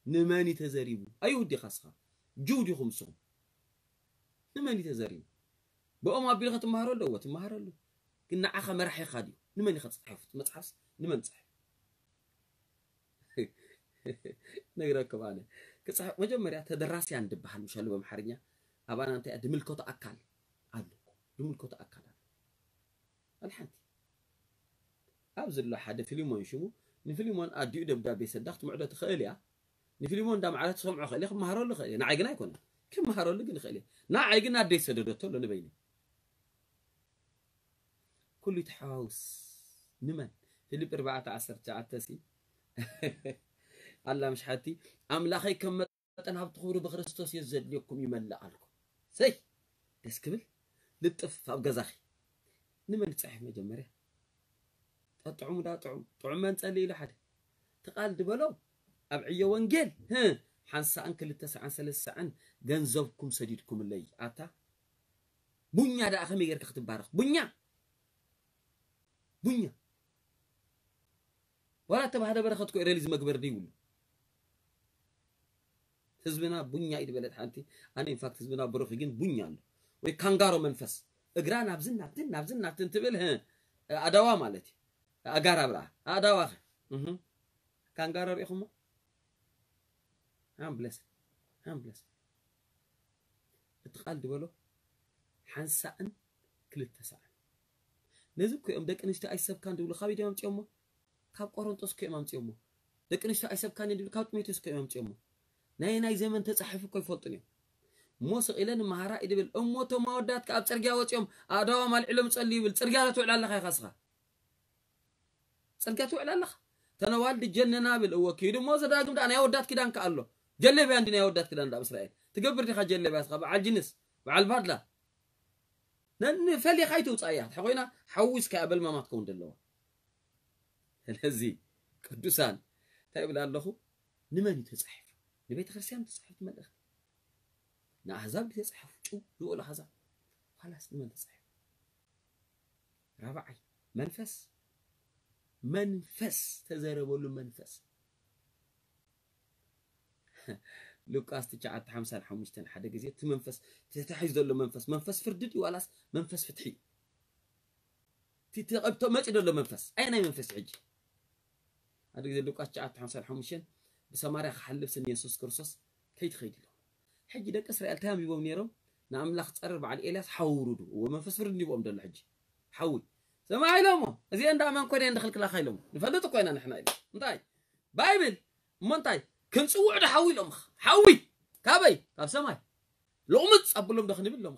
ንመን እዩ ተዘሪቡ ኣይሁድ ዲኻ ስኻ ጅው ዲኹም ስኹም ንመን እዩ ተዘርዩ? ብኦም ኣቢልካ ትመሃረሉ? እወ ትመሃረሉ። ግን ንዓኻ መራሒኻ ድዩ? ንመን ኢኻ ትፅሕፍ? መፅሓፍስ ንመን ትፅሕፍ? ነግረኩም ኣነ። ክፅሕፍ መጀመርያ ተደራሲያን ድበሃል ምሻሉ በምሓርኛ። ኣባና እንታይ እያ? ድምልከቶ ኣካል ኣሎ እኮ። ድምልከቶ ኣካል ኣሎ። ኣልሓንቲ ኣብ ዘሎ ሓደ ፊልሞን ሽሙ ንፊልሞን ኣዲኡ ደብዳቤ ሰዳ ክትምዕዶ ትኽእል እያ። ንፊልሞን እንዳ መዓለት ትሰምዖ ክእል እየ፣ ክመሃረሉ ክእል እየ። ንዓይ ግን ኣይኮነን። ክመሃረሉ ግን ይኽእል እየ። ንዓይ ግን ኣደይ ሰደደቶ ኣሎ ንበይነይ። ኩሉ ይተሓዋውስ። ንመን? ፊልጵ ኣርባዕተ ዓሰርተ ትሽዓተ ሲ ኣላ ምሽ ሓቲ ኣምላኸይ ከም መጠን ሃብቲ ክብሩ ብክርስቶስ የዘድልየኩም ይመልእ ኣልኩም። ሰይ ደስ ክብል። ልጥፍ ኣብ ገዛኺ። ንመን ትፅሕፍ መጀመርያ? ጠጥዑሙ ዳ ጥዑም ጥዑም መንፀሊ ኢሉ ሓደ ትቃል ድበሎ ኣብ ዕዮ ወንጌል ህ ሓንሳእን ክልተ ሰዓን ሰለስተ ሰዓን ገንዘብኩም ሰዲድኩምለይ ኣታ ቡኛ ደኣ ከመይ ጌርካ ክትባረኽ ቡኛ ቡኛ ዋላ ተባህደ በረኸት ኮ ሬሊዝ መግበር ድይብሉ ህዝብና ቡኛ እዩ ዝበለት ሓንቲ ኣነ ኢንፋክት ህዝብና ብሩኽ ግን ቡኛ ኣሎ ወይ ካንጋሮ መንፈስ እግራ ናብዝን ናብትን ናብዝን ናብትን ትብል ህ ኣዳዋ ማለት እዩ ኣጋራብ ደኣ ኣዳዋ ኸ እህ ካንጋሮ ሪኢኹሞ ሃምብለስ ሃምብለስ እቲ ቃል ድበሎ ሓንሳእን ክልተ ሰዓን ነዚ እኮ እዮም ደቂ ኣንስትዮ ኣይሰብካን ድብሉ ካበይ ድዮም ኣምፅኦሞ ካብ ቆሮንጦስ እኮ እዮም ኣምፅኦሞ ደቂ ኣንስትዮ ኣይሰብካን ድብሉ ካብ ጢሞቴዎስ እኮ እዮም ኣምፅኦሞ ናይ ናይ ዘመን ተፃሒፉ እኮ ይፈልጡን እዮም እሞ ስቕ ኢለ ንመሃራ እዩ ድብል እሞ እቶም ኣወዳት ከ ኣብ ፅርግያ ወፂኦም ኣእዳዎም ኣልዒሎም ጸልዩ ይብል ፅርግያ ዶ ትውዕል ኣለኻ ኢኻ ስኻ ፅርግያ ትውዕል ኣለኻ ተነዋልዲ ጀነና ብል እወ ኪዱ እሞ ዘዳግም ደኣ ናይ ኣወዳት ኪዳን ከ ኣሎ ጀለብያ እንዲ ናይ ኣወዳት ኪዳን ደኣ እስራኤል ትገብር ዲኻ ጀለብያ ስኻ በዓል ጅንስ በዓል ባድላ ነንፈሊኻ ይትውፃእያ እንተ ኮይና ሓዊስካ በልማማ ትከውን ዘለዋ ስለዚ ቅዱሳን እንታይ ይብል ኣለኹ ንመን እዩ ተፃሒፉ ንቤተ ክርስቲያን ተፃሒፉ መልእኽቲ ንኣህዛብ ተፃሒፉ ጭው ዝበሉ ኣህዛብ ኋላስ ንመን ተፃሒፉ ራብዓይ መንፈስ መንፈስ ተዘረበሉ መንፈስ ሉቃስ ትሽዓተ ሓምሳን ሓሙሽተን ሓደ ግዜ እቲ መንፈስ ተታሒዙ ዘሎ መንፈስ መንፈስ ፍርዲ ድዩ ዋላስ መንፈስ ፍትሒ እዩ እቲ ተቐብቶ መፂ ዘሎ መንፈስ ኣየናይ መንፈስ ሕጂ ሓደ ግዜ ሉቃስ ትሽዓተ ሓምሳን ሓሙሽተን ብሰማርያ ክሓልፍ ስም የሱስ ክርስቶስ ከይትኸይድ ኢሎም ሕጂ ደቂ እስራኤል እንታይ ኣንቢቦም ነይሮም ንኣምላኽ ፀርር በዓል ኤልያስ ሓዊ ውሩዱ እዎ መንፈስ ፍርዲ እንዲቦም ዘሎ ሕጂ ሓዊ ሰማዕ ኢሎሞ እዚአን ደኣ መን ኮይነ እንድኽልክላኻ ኢሎም ንፈልጥ እኮ ኢና ንሕና ኢሎም እንታይ ባይብል እሞ እንታይ ክንፅውዕ ዶ ሓዊ ኢሎም ሓዊ ካበይ ካብ ሰማይ ሎቕምፅ ኣብሎም ዶ ክንብል ኢሎም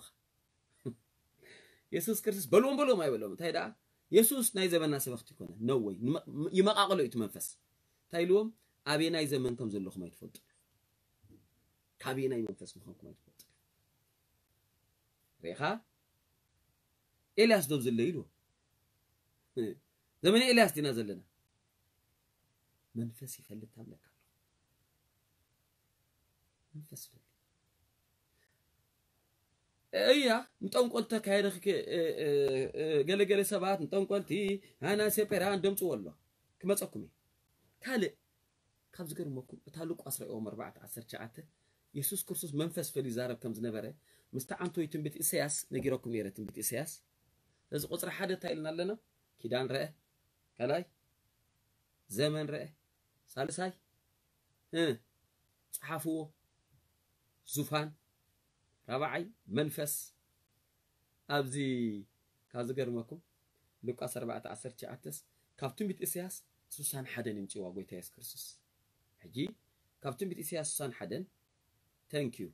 የሱስ ክርስቶስ በልዎም በልዎም ኣይበሎም እንታይ ደኣ የሱስ ናይ ዘመና ሰበኽቲ ይኮነ ነወይ ይመቃቅሎ እዩ መንፈስ እንታይ ኢልዎም ኣበየናይ ዘመን ከም ዘለኹም ኣይትፈልጡ ካበየናይ መንፈስ ምዃንኩም ኣይትፈልጡ ሪኻ ኤልያስ ዶብ ዝለ ኢልዎ ዘመነ ኤልያስ ዲና ዘለና መንፈስ ይፈልጥ ታምለካ መንፈስ ይፈልጥ እያ ንጠንቆል ተካየደ ገለገለ ሰባት ንጠንቆልቲ ሃና ሴፔራ እንደምፅዎ ኣሎ ክመፀኩም እዩ ካልእ ካብ ዝገርመኩም እታ ሉቃስ ርእዎም ኣርባዕተ ዓሰርተ ትሽዓተ የሱስ ክርስቶስ መንፈስ ፈልዩ ይዛረብ ከም ዝነበረ ምስቲ ዓንቶ ትንቢት ኢሳያስ ነጊረኩም ነይረ ትንቢት ኢሳያስ እዚ ቁፅሪ ሓደ እንታይ ኢልና ኣለና ኪዳን ረአ ካልኣይ ዘመን ረአ ሳልሳይ እ፣ ፀሓፍዎ ዙፋን ራብዓይ መንፈስ ኣብዚ ካብ ዝገርመኩም ሉቃስ ኣርባዕተ ዓሰርተ ትሽዓተስ ካብ ትንቢት ኢሳያስ ስሳን ሓደን ይምፅዋ ጎይታ የሱስ ክርስቶስ ሕጂ ካብ ትንቢት ኢሳያስ ስሳን ሓደን ተንኪዩ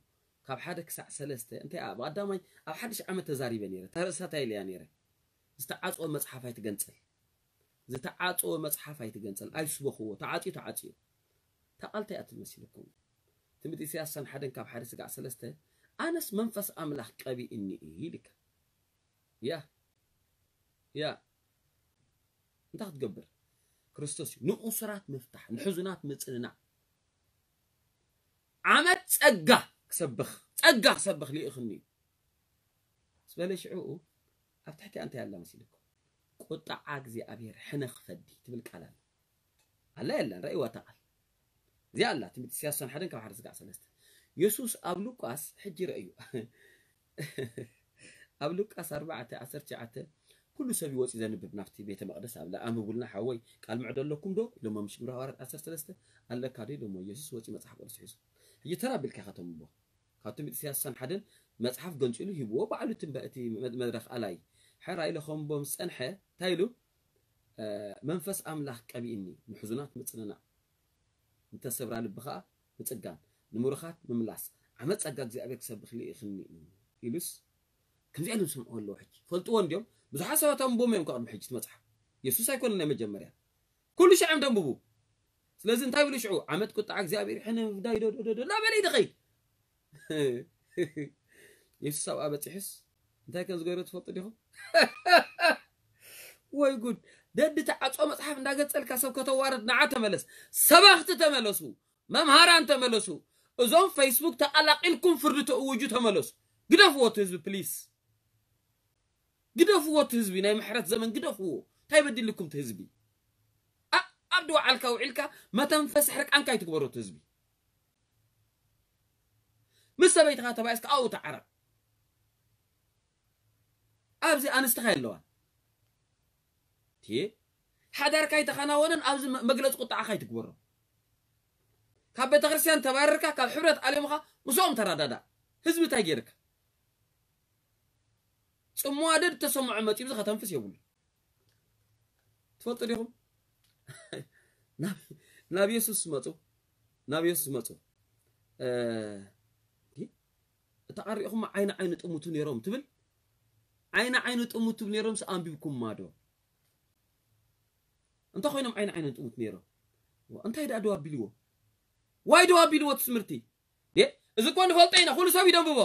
ካብ ሓደ ክሳዕ ሰለስተ እንታይ ብቀዳማይ ኣብ ሓድሽ ዓመት ተዛሪበ ነይረ ተርእሳታ ኢለያ ነይረ ዝተዓፅወ መፅሓፍ ኣይትገንፅል ዝተዓፀወ መፅሓፍ ኣይትገንፅል ኣይስበኽዎ ተዓፅዩ ተዓፅዩ እታ ቃል እንታይ እያ ትመስለኩም ትንቢት ኢሳያስ ሳን ሓደን ካብ ሓደ ስጋዕ ሰለስተ ኣነስ መንፈስ ኣምላኽ ቀቢእኒ እዩ ኢልካ ያ ያ እንታይ ክትገብር ክርስቶስ እዩ ንእሱራት ምፍታሕ ንሕዙናት ምፅንናዕ ዓመት ፀጋ ክሰብኽ ፀጋ ክሰብኽ ልኢኽኒ እዩ ዝበለ ሽዑኡ ኣብ ትሕቲኣ እንታይ ኣላ መሲልኩም ቁጣዓ እግዚኣብሔር ሕነ ክፈዲ ትብል ቃል ኣላ ኣላ የላን ረእይዋ እታ ቃል እዚኣ ኣላ ትንቢት ኢሳያስ ሓደን ካብ ሓደ ስጋዕ ሰለስተ የሱስ ኣብ ሉቃስ ሕጂ ረእዩ ኣብ ሉቃስ ኣርባዕተ ዓሰርተ ትሽዓተ ኩሉ ሰብ ይወፂ ዘንብብ ናብቲ ቤተ መቕደስ ኣብ ኣንብቡልና ሓወይ፣ ቃል ምዕዶ ኣለኩም ዶ ኢሎሞ፣ ምሽ ግብረ ሃዋርያት ዓሰርተ ሰለስተ ኣለካ ዶ ኢሎሞ፣ ኢየሱስ ወፂ መፅሓፍ ቅዱስ ሒዙ። ሕጂ ተራ ቢልካ ኢኻ ተንብቦ። ካብ ትንቢት ኢሳያስ ሓደን መፅሓፍ ገንፂሉ ሂብዎ ባዕሉ ትንበ እቲ መድረኽ ኣላይ። ሕራይ ኢለ ከምቦ ምስ ፀንሐ እንታይ ኢሉ? መንፈስ ኣምላኽ ቀቢእኒ፣ ንሕዙናት ምጽንናዕ፣ ንተሰብራ ልቢ ኸኣ ምጽጋን፣ ንምሩኻት ምምላስ፣ ዓመት ጸጋ እግዚኣብሔር ክሰብኽ ልኢኽኒ እዩ ኢሉስ፣ ከምዚኣ ኢሎም ዝሰምዕዎ ኣለዉ። ሕጂ ፈልጥዎ እንድዮም። ብዙሓት ሰባት ኣንብቦም እዮም፣ ካብ ቅድሚ ሕጂ እቲ መጽሓፍ። የሱስ ኣይኮነን ናይ መጀመርያ። ኩሉ ሻዕ እዮም ደንብቡ። ስለዚ እንታይ ብሉ ሽዑ? ዓመት ቁጣ እግዚኣብሔር ሕነ ምፍዳይ ዶ ዶ ዶ ዶ እናበለ እዩ ዝኸይድ። የሱስ ኣብኣ በጺሑስ እንታይ ከም ዝገበረ ትፈልጡ ዲኹም? ወይ ጉድ! ደዲ ተዓጾ መጽሓፍ እንዳገጸልካ ሰብ ከተዋርድ፣ ንዓ ተመለስ። ሰበኽቲ ተመለሱ፣ መምሃራን ተመለሱ። እዞም ፌስቡክ ተቐላቒልኩም ፍርዲ ተእውጁ ተመለሱ። ግደፍዎ እቲ ህዝቢ ፕሊስ። ግደፍዎ እቲ ህዝቢ፣ ናይ ምሕረት ዘመን ግደፍዎ። እንታይ በዲልኩም እቲ ህዝቢ? ኣብ ድዋዓልካ ውዒልካ መተንፈሲ ሕርቃንካ ይትግበሮ እቲ ህዝቢ። ምስ ሰበይትኻ ተባኢስካ ኣብኡ ተዓረቕ። ኣብዚ ኣንስትኻ የለዋን። እቲ ሓዳርካ ኣይተኸናወነን፣ ኣብዚ መ-፣ መግለጺ ቁጣዓኻ ኣይትግበሮ። ካብ ቤተክርስትያን ተባረርካ፣ ካብ ሕብረት ኣለምኻ፣ ምስኦም ተረዳዳእ። ህዝቢ እንታይ ገይርካ? ጽምዋ ደድ ተሰምዖ መጺኡ፣ እዚ ከተንፍስ የብሉ። ትፈልጡ ዲኹም? ናብ፣ ናብ የሱስ መጹ። ናብ የሱስ መጹ። እ፣ እንዲ፣ እታ ቀሪእኹም ዓይኒ ዓይኒ ጥሙቱ ነይሮም ትብል? ዓይኒ ዓይኒ ጥሙቱ ነይሮምስ ኣንቢብኩማ ዶ? እንተ ኮይኖም ዓይኒ ዓይኒ ጥሙት ነይሮም። እንታይ ደኣ ደው ኣቢልዎ? ዋይ ደው ኣቢልዎ እቲ ትምህርቲ? ዴ፣ እዚ እኮ ንፈልጦ ኢና፣ ኩሉ ሰብ ይደንብቦ።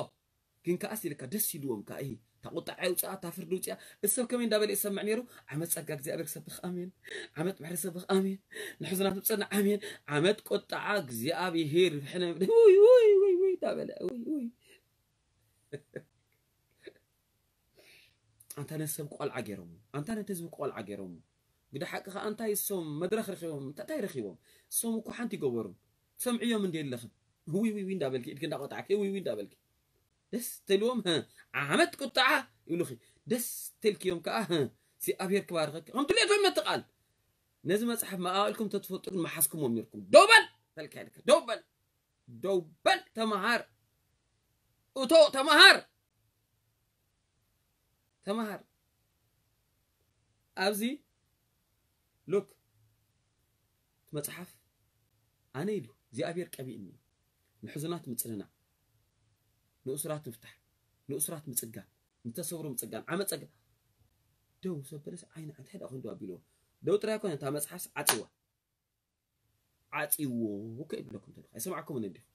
ግን ከኣስ ኢልካ ደስ ኢልዎም ከኣ፣ እሂ፣ እታ ቁጣዓ የውፅኣ፣ እታ ፍርዲ ውፅኣ። እዚ ሰብ ከመይ እንዳበለ ይሰምዕ ነይሩ? ዓመት ጸጋ እግዚኣብሔር ክሰብኽ፣ ኣሜን። ዓመት ምሕረት ክሰብኽ፣ ኣሜን። ንሕዙናት ምጽናዕ፣ ኣሜን። ዓመት ቁጣዓ እግዚኣብሔር ሕነ፣ ውይ፣ ውይ፣ ውይ፣ ውይ እንዳበለ፣ ውይ፣ ውይ። ኣንታ ነቲ ሰብ ቆልዓ ገይሮሞ፣ ኣንታ ነቲ ህዝቢ ቆልዓ ገይሮሞ። ግደ ሓቂ ኸኣ እንታይ እሶም መድረኽ ረኺቦም፣ እንታይ፣ እንታይ ረኺቦም? እሶም እኮ ሓንቲ ይገበሩን። ትሰምዕዮም እንዲ ኣለኽን። ውይ፣ ውይ፣ ውይ እንዳበልኪ፣ ኢድኪ እንዳቆጣዕኪ፣ ውይ፣ ውይ እንዳበልኪ። ደስ ተልዎም፣ ህእ፣ ዓመት ቁጣዓ ይብሉኺ። ደስ ተልክዮም ከኣ፣ ህእ፣ እግዚኣብሔር ክባርኸኪ። ከም ድሌቶም ነቲ ቃል። ነዚ መጽሓፍ መቓቕልኩም ተትፈልጡ ግን መሓዝኩሞም ነርኩም። ደው በል! በልካ ኢልካ፣ ደው በል! ደው በል! ተመሃር! እቶ ተመሃር! ተመሃር። ኣብዚ ሉክ እቲ መጽሓፍ ኣነ ኢሉ እግዚኣብሔር ቀቢእኒ እዩ። ንሕዙናት ምጽንናዕ፣ ንእሱራት ምፍታሕ፣ ንእሱራት ምጽጋን፣ ንተሰብሩ ምጽጋን፣ ዓመት ጸጋ-፣ ደው ዘበለስ ዓይኒ እንታይ ደኣ ኮይኑ ደው ኣቢልዎ? ደው ጥራይ ኣይኮነ፣ እታ መጽሓፍስ ዓጽዋ። ዓጽዎ እኮ ይብለኩም ተለኹ። ኣይሰማዕኩምን እንዲኹም?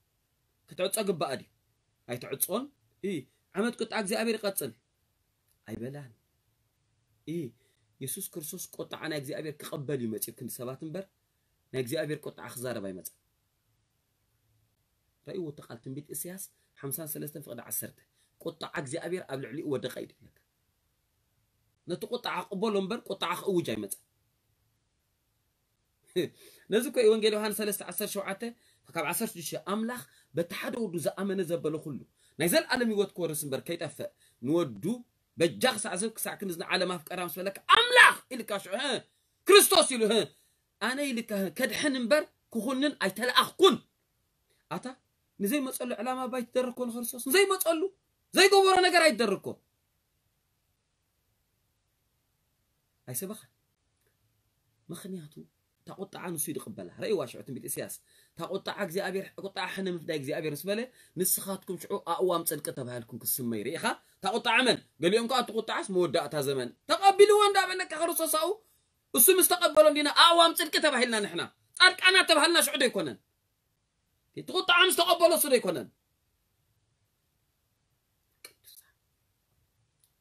ክትዕጾ ግባእ ድዩ? ኣይትዕጾን? እ፣ ዓመት ቁጣ እግዚኣብሔር ይቐጽል። ኣይበላን። እ፣ የሱስ ክርስቶስ ቁጣዓ ናይ እግዚኣብሔር ክቐበል እዩ መጺኡ ክንዲ ሰባት እምበር፣ ናይ እግዚኣብሔር ቁጣዓ ክዛረብ ኣይመጸን። ረእይዎ እቲ ቃል ትንቢት እስያስ ሓምሳን ሰለስተን ፍቕዲ ዓሰርተ። ቁጣዓ እግዚኣብሔር ኣብ ልዕሊኡ ወደቐ እዩ ዝብለካ። ነቲ ቁጣዓ ክቕበሎ እምበር ቁጣዓ ክእውጅ ኣይመጸን። ነዚ እኮ እዩ ወንጌል ዮሃንስ ሰለስተ ዓሰርተ ሸውዓተ ካብ ዓሰርተ ሽዱሽተ፣ ኣምላኽ በቲ ሓደ ወዱ ዝኣመነ ዘበለ ኩሉ ናይ ዘልኣለም ህይወት ክወርስ እምበር ከይጠፍእ፣ ንወዱ በጃ ክሳዕ ዝህብ ክሳዕ ክንድዚ ንዓለም ኣፍቀራ ምስ በለካ፣ ኣምላኽ ኢልካ ሽዑ፣ ህ፣ ክርስቶስ ኢሉ፣ ህ፣ ኣነ ኢልካ፣ ህ፣ ከድሕን እምበር ክኹንን ኣይተለኣኽኩን። ኣታ ንዘይመጸሉ ዕላማ ባይ ትደርኮ ንክርስቶስ ንዘይመጸሉ ዘይገበሮ ነገር ኣይትደርኮ። ኣይሰበኻን። ምኽንያቱ እታ ቁጣዓ ንሱ እዩ ዝቕበላ። ረእይዋ ሽዑ ትንቢት ኢሳያስ። እታ ቁጣዓ እግዚኣብሔር፣ ቁጣዓ ሕነ ምፍዳይ እግዚኣብሔር ምስ በለ፣ ንስኻትኩም ሽዑ ኣእዋም ጽድቂ ተባሂልኩም ክስመይ ርኢኻ። እታ ቁጣዓ መን? ገሊኦም ከኣ እቲ ቁጣዓስ መወዳእታ ዘመን። ተቐቢልዎ እንዳበለካ ክርስቶስ ኣብኡ፣ እሱ ምስ ተቐበሎ እንዲና ኣእዋም ጽድቂ ተባሂልና ንሕና። ጻድቃናት ተባሂልና ሽዑ ዶ ኣይኮነን? እቲ ቁጣዓ ምስ ተቐበሎ እሱ ዶ ኣይኮነን? ቅዱሳን።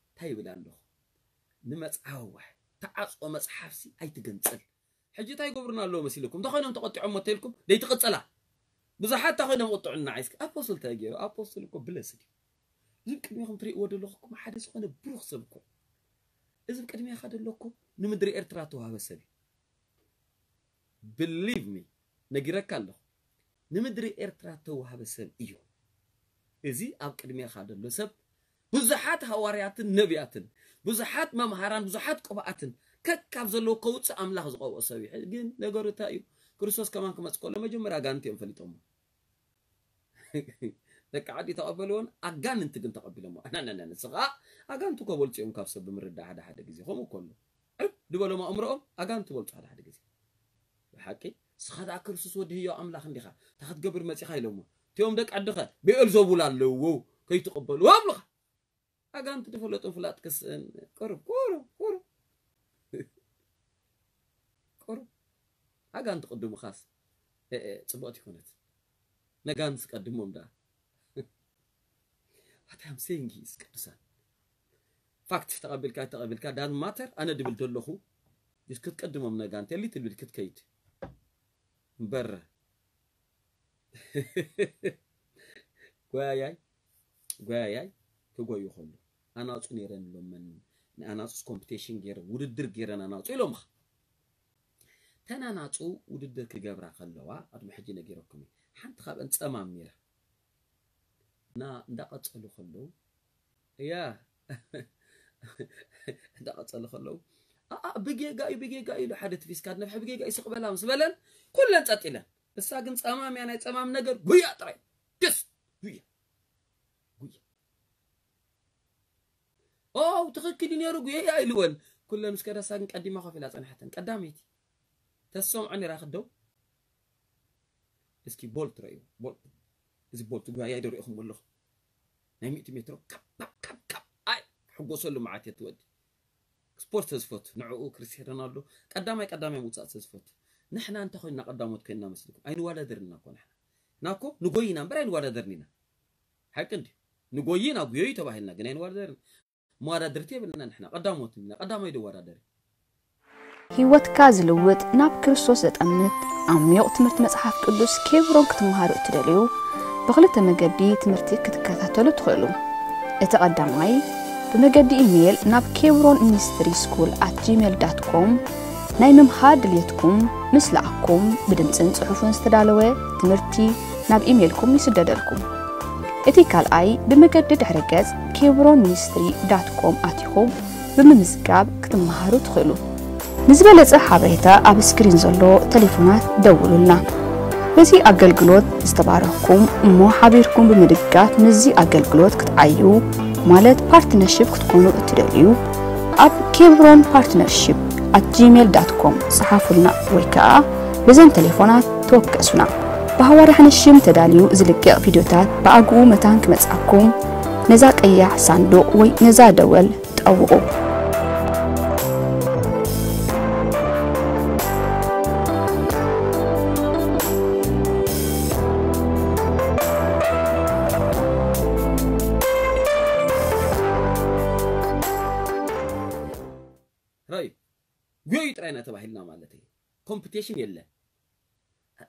እንታይ ይብል ኣለኹ? ንመጽሓፍ ዋሕ፣ ተዓጽኦ መጽሓፍሲ ኣይትገንጽል። ሕጂ እንታይ ይገብሩና ኣለዉ መሲልኩም? እንተኾይኖም ተቖጢዖም እሞ ተይልኩም፣ ደይትቕጽላ። ብዙሓት እንታይ ኮይኖም ቁጥዑና ዓይስኪ? ኣፖስትል እንታይ ገይሩ? ኣፖስትል እኮ ብለስድ እዩ። እዚ ቅድሜኹም ትርእይዎ ዘለኹም ሓደ ዝኾነ ብሩኽ ሰብ እኮ። እዚ ቅድሜኻ ዘሎ እኮ ንምድሪ ኤርትራ ተዋህበ ሰብ እዩ። Believe me፣ ነጊረካ ኣለኹ። ንምድሪ ኤርትራ ተዋህበ ሰብ እዩ። እዚ ኣብ ቅድሜኻ ዘሎ ሰብ ብዙሓት ሃዋርያትን ነቢያትን፣ ብዙሓት መምሃራን፣ ብዙሓት ቅብኣትን ከካብ ዘለዎ ከውፅእ ኣምላኽ ዝቐብኦ ሰብ እዩ። ግን ነገሩ እንታይ እዩ? ክርስቶስ ከማን ክመፅ ከሎ መጀመርያ ኣጋንንቲ እዮም ፈሊጦሞ። ደቂ ዓዲ ተቐበልዎን ኣጋንንቲ ግን ተቐቢሎሞ። ኣናናና ንስኻ ኣጋንንቲ እኮ በልፁ እዮም ካብ ሰብ ብምርዳእ ሓደ ሓደ ግዜ ከምኡ ከሎ ዕብ ዝበሎም ኣእምሮኦም ኣጋንንቲ በልፁ ሓደ ሓደ ግዜ። ብሓቂ ንስኻ ደኣ ክርስቶስ ወዲ ህያው ኣምላኽ እንዲኻ፣ እንታይ ክትገብር መፂኻ ኢሎሞ። እቲኦም ደቂ ዓድኸ ብኤልዘቡል ኣለዉ ከይትቕበሉ ኣብሉኻ። ኣጋንንቲ ዝፈለጡ ፍላጥ ክስእን ቅሩብ ቅሩብ ቅሩብ ቅሩብ ኣጋንንቲ ቅድሙኻስ ጽቡቕቲ ይኮነት። ነጋንስ ቀድሞም ደኣ። What I'm saying is ቅዱሳን ፋክት ተቐቢልካ ተቐቢልካ ዳን ማተር ኣነ ድብል ዘለኹ ክትቀድሞም ነጋንት የሊ ትብል ክትከይድ እምበር ጓያይ ጓያይ ክጎዩ ከሎ ኣናፁ ነይረን ኢሎመን። ንኣናፁስ ኮምፒቴሽን ገይረን ውድድር ገይረን ኣናፁ ኢሎምኻ። ተን ኣናፁ ውድድር ክገብራ ከለዋ ቅድሚ ሕጂ ነጊረኩም እየ። ሓንቲ ካብአን ፀማም ነይራ እና እንዳቀፀሉ ከለዉ እያ እንዳቀፀሉ ከለዉ ኣኣ ብጌጋ እዩ ብጌጋ እዩ ኢሉ ሓደ ትፊስካ ነፍሒ ብጌጋ እዩ ስቅበላ ምስ በለን ኩለን ፀጥ ኢለን። እሳ ግን ፀማም እያ ናይ ፀማም ነገር ጉያ ጥራይ ደስ ጉያ ጉያ ኦ ትኽክል እዩ ነይሩ ጉየያ ኢልወን ኩለን ምስ ከደሳ ግን ቀዲማ ኮፍ ኢላ ፀንሐተን ቀዳመይቲ ተሰምዖ ነይራ ክደው እስኪ ቦልት ረእዩ ቦልት እዚ ቦልት ጉያያ ይደሪእኹም ኣለኹ ናይ ሚእቲ ሜትሮ ካብ ካብ ካብ ካብ ኣይ ሕጎሰሉ መዓት እየ ትወዲ ስፖርት ተዝፈቱ ንዕኡ ክርስቲያኖ ሮናልዶ ቀዳማይ ቀዳማይ ምውፃእ ተዝፈቱ ንሕና እንተ ኮይንና ቀዳሞት ኮይንና መስልኩም ኣይንወዳደርና እኮ ንሕና ናኮ ንጎይና እምበር ኣይንወዳደርን ኢና ሓቂ እንዲ ንጎይና ጉዮዩ ተባሂልና ግን ኣይንወዳደርን መወዳደርቲ የብልና ንሕና ቀዳሞት ኢና ቀዳማይ ደወዳደሪ ህይወትካ ዝልውጥ ናብ ክርስቶስ ዘጠምት ዓሚቕ ትምህርቲ መጽሓፍ ቅዱስ ኬብሮን ክትመሃሩ እትደልዩ ብኽልተ መገዲ ትምህርቲ ክትከታተሉ ትኽእሉ። እቲ ቀዳማይ ብመገዲ ኢሜይል ናብ ኬብሮን ሚኒስትሪ ስኩል ኣት ጂሜል ዳት ኮም ናይ ምምሃር ድልየትኩም ምስ ለኣኽኩም ብድምጽን ጽሑፍን ዝተዳለወ ትምህርቲ ናብ ኢሜይልኩም ይስደደልኩም። እቲ ካልኣይ ብመገዲ ድሕረ ገጽ ኬብሮን ሚኒስትሪ ዳት ኮም ኣቲኹም ብምምዝጋብ ክትመሃሩ ትኽእሉ። ንዝበለጸ ሓበሬታ ኣብ ስክሪን ዘሎ ተሌፎናት ደውሉልና። በዚ ኣገልግሎት ዝተባረኽኩም እሞ ሓቢርኩም ብምድጋፍ ምስዚ ኣገልግሎት ክትዓዩ ማለት ፓርትነርሺፕ ክትኮኑ እትደልዩ ኣብ ኬብሮን ፓርትነርሺፕ ኣት ጂሜል ዳት ኮም ጸሓፉልና ወይ ከኣ በዘን ተሌፎናት ተወከሱና። ብሃዋርያ ሓንሽም ተዳልዩ ዝልቀቕ ቪድዮታት ብኣግኡ መታን ክመጽኣኩም ነዛ ቀያሕ ሳንዱቕ ወይ ነዛ ደወል ጠውቑ። ራዩ ጉዮዩ ጥራይ ኢና ተባሂልና ማለት እዩ ኮምፒቴሽን የለ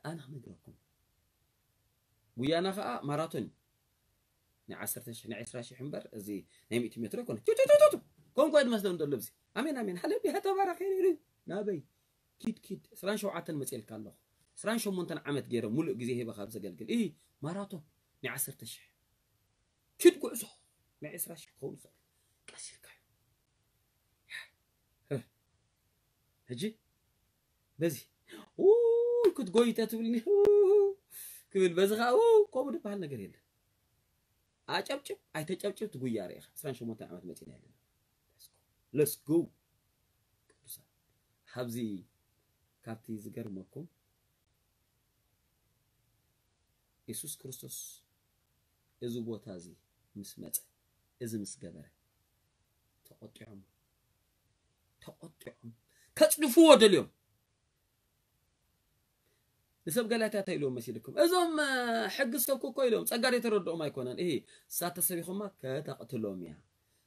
ኣና ክነግረኩም ጉያና ከዓ ማራቶን ናይ ዓሰርተ ሽሕ ናይ ዕስራ ሽሕ እምበር እዚ ናይ ሚእቲ ሜትሮ ኣይኮነ ቱቱቱቱ ኮንኳ ድመስሎም ዘሎ ብዚ ኣሜን ኣሜን ሃለሉያ ተባረኽ ይሩ ናበይ ኪድ ኪድ ዕስራን ሸውዓተን መፅኤልካ ኣለኹ ዕስራን ሸሞንተን ዓመት ገይረ ሙሉእ ግዜ ሂበ ካብ ዘገልግል እ ማራቶን ናይ ዓሰርተ ሽሕ ኪድ ጉዕዞ ናይ ዕስራ ሽሕ ክኸውን ይኽእል ቀስ ኢልካ ሕጂ በዚ ክትጎይ ተትብልኒ ክብል በዚ ከዓ ከምኡ ዝበሃል ነገር የለን ኣጨብጭብ ኣይተጨብጭብ ትጉያ ርኢኻ ዕስራን ሸሞንተን ዓመት መፂና ኣለና ለስጎ ቅዱሳን ካብዚ ካብቲ ዝገርመኩም የሱስ ክርስቶስ እዚ ቦታ እዚ ምስ መፀ እዚ ምስ ገበረ ተቆጢዖም ተቆጢዖም ከፅድፍዎ ደልዮም ንሰብ ገላትያ እንታይ ኢልዎም መሲልኩም እዞም ሕጊ ዝሰብኩ እኮ ኢሎም ጸጋ ዘይተረድኦም ኣይኮነን እሂ እሳተ ሰብ ኢኹማ ከተቕትሎም እያ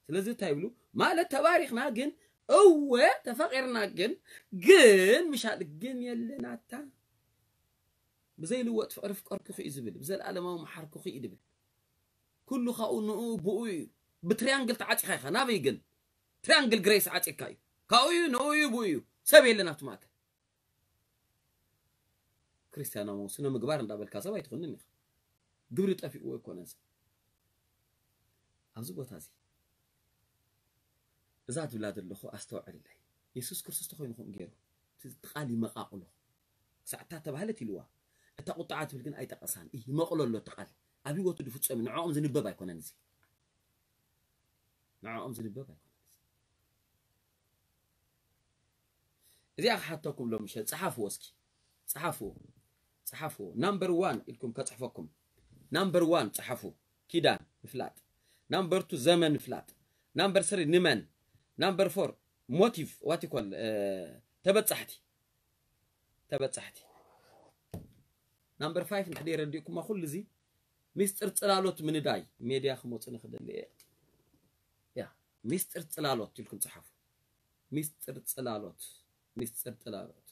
ስለዚ እንታይ ይብሉ ማለት ተባሪኽና ግን እወ ተፈቒርና ግን ግን ምሻል ግን የለናታ ብዘይልወጥ ፍቕሪ ፍቀርኩኺ እዩ ዝብል ብዘለኣለማዊ መሓርኩኺ እዩ ዝብል ኩሉ ካብኡ ንኡ ብኡ እዩ ብትሪያንግል ተዓፂኻ ኢኻ ናበይ ግን ትሪያንግል ግሬስ ዓፂካ እዩ ካብኡ እዩ ንኡ እዩ ብኡ እዩ ሰብ የለን ኣብቲ ማእከል ክርስቲያናዊ ስነ ምግባር እንዳበልካ ሰብ ኣይትኾንን ኢኻ ግብሪ ጠፊእዎ ኣይኮነን ሰብ ኣብዚ ቦታ እዚ እዛ ትብላ ዘለኹ ኣስተውዕልለይ። የሱስ ክርስቶስ ተኾይኑ ከምኡ ገይሩ። እቲ ቃል ይመቓቕሎ። ክሳዕ እታ ተባህለት ኢልዋ። እታ ቁጥዓ ትብል ግን ኣይጠቐሳን። ይመቕሎ ኣሎ እቲ ቃል። ኣብ ህይወቱ ድፍጸም ንዕኦም ዝንበብ ኣይኮነን እዚ። ንዕኦም ዝንበብ ኣይኮነን እዚ። እዚኣ ክሓተኩም ሎም ምሸት ጸሓፍዎ እስኪ። ጸሓፍዎ። ጸሓፍዎ። ናምበር ዋን ኢልኩም ከጽሕፈኩም። ናምበር ዋን ጸሓፉ። ኪዳን ምፍላጥ። ናምበር ቱ ዘመን ምፍላጥ። ናምበር ስሪ ንመን። ናምበር ፎር ሞቲቭ ዋት ይኮል ተበጻሕቲ። ተበጻሕቲ። ናምበር ፋይፍ እንድሕር የረዲእኩማ ኩሉ እዚ ሚስጥር ጽላሎት ምንዳይ ሜድያ ክመጹ ንክደሊ እየ። ያ ሚስጥር ጽላሎት ኢልኩም ጸሓፉ። ሚስጥር ጽላሎት። ሚስጥር ጽላሎት።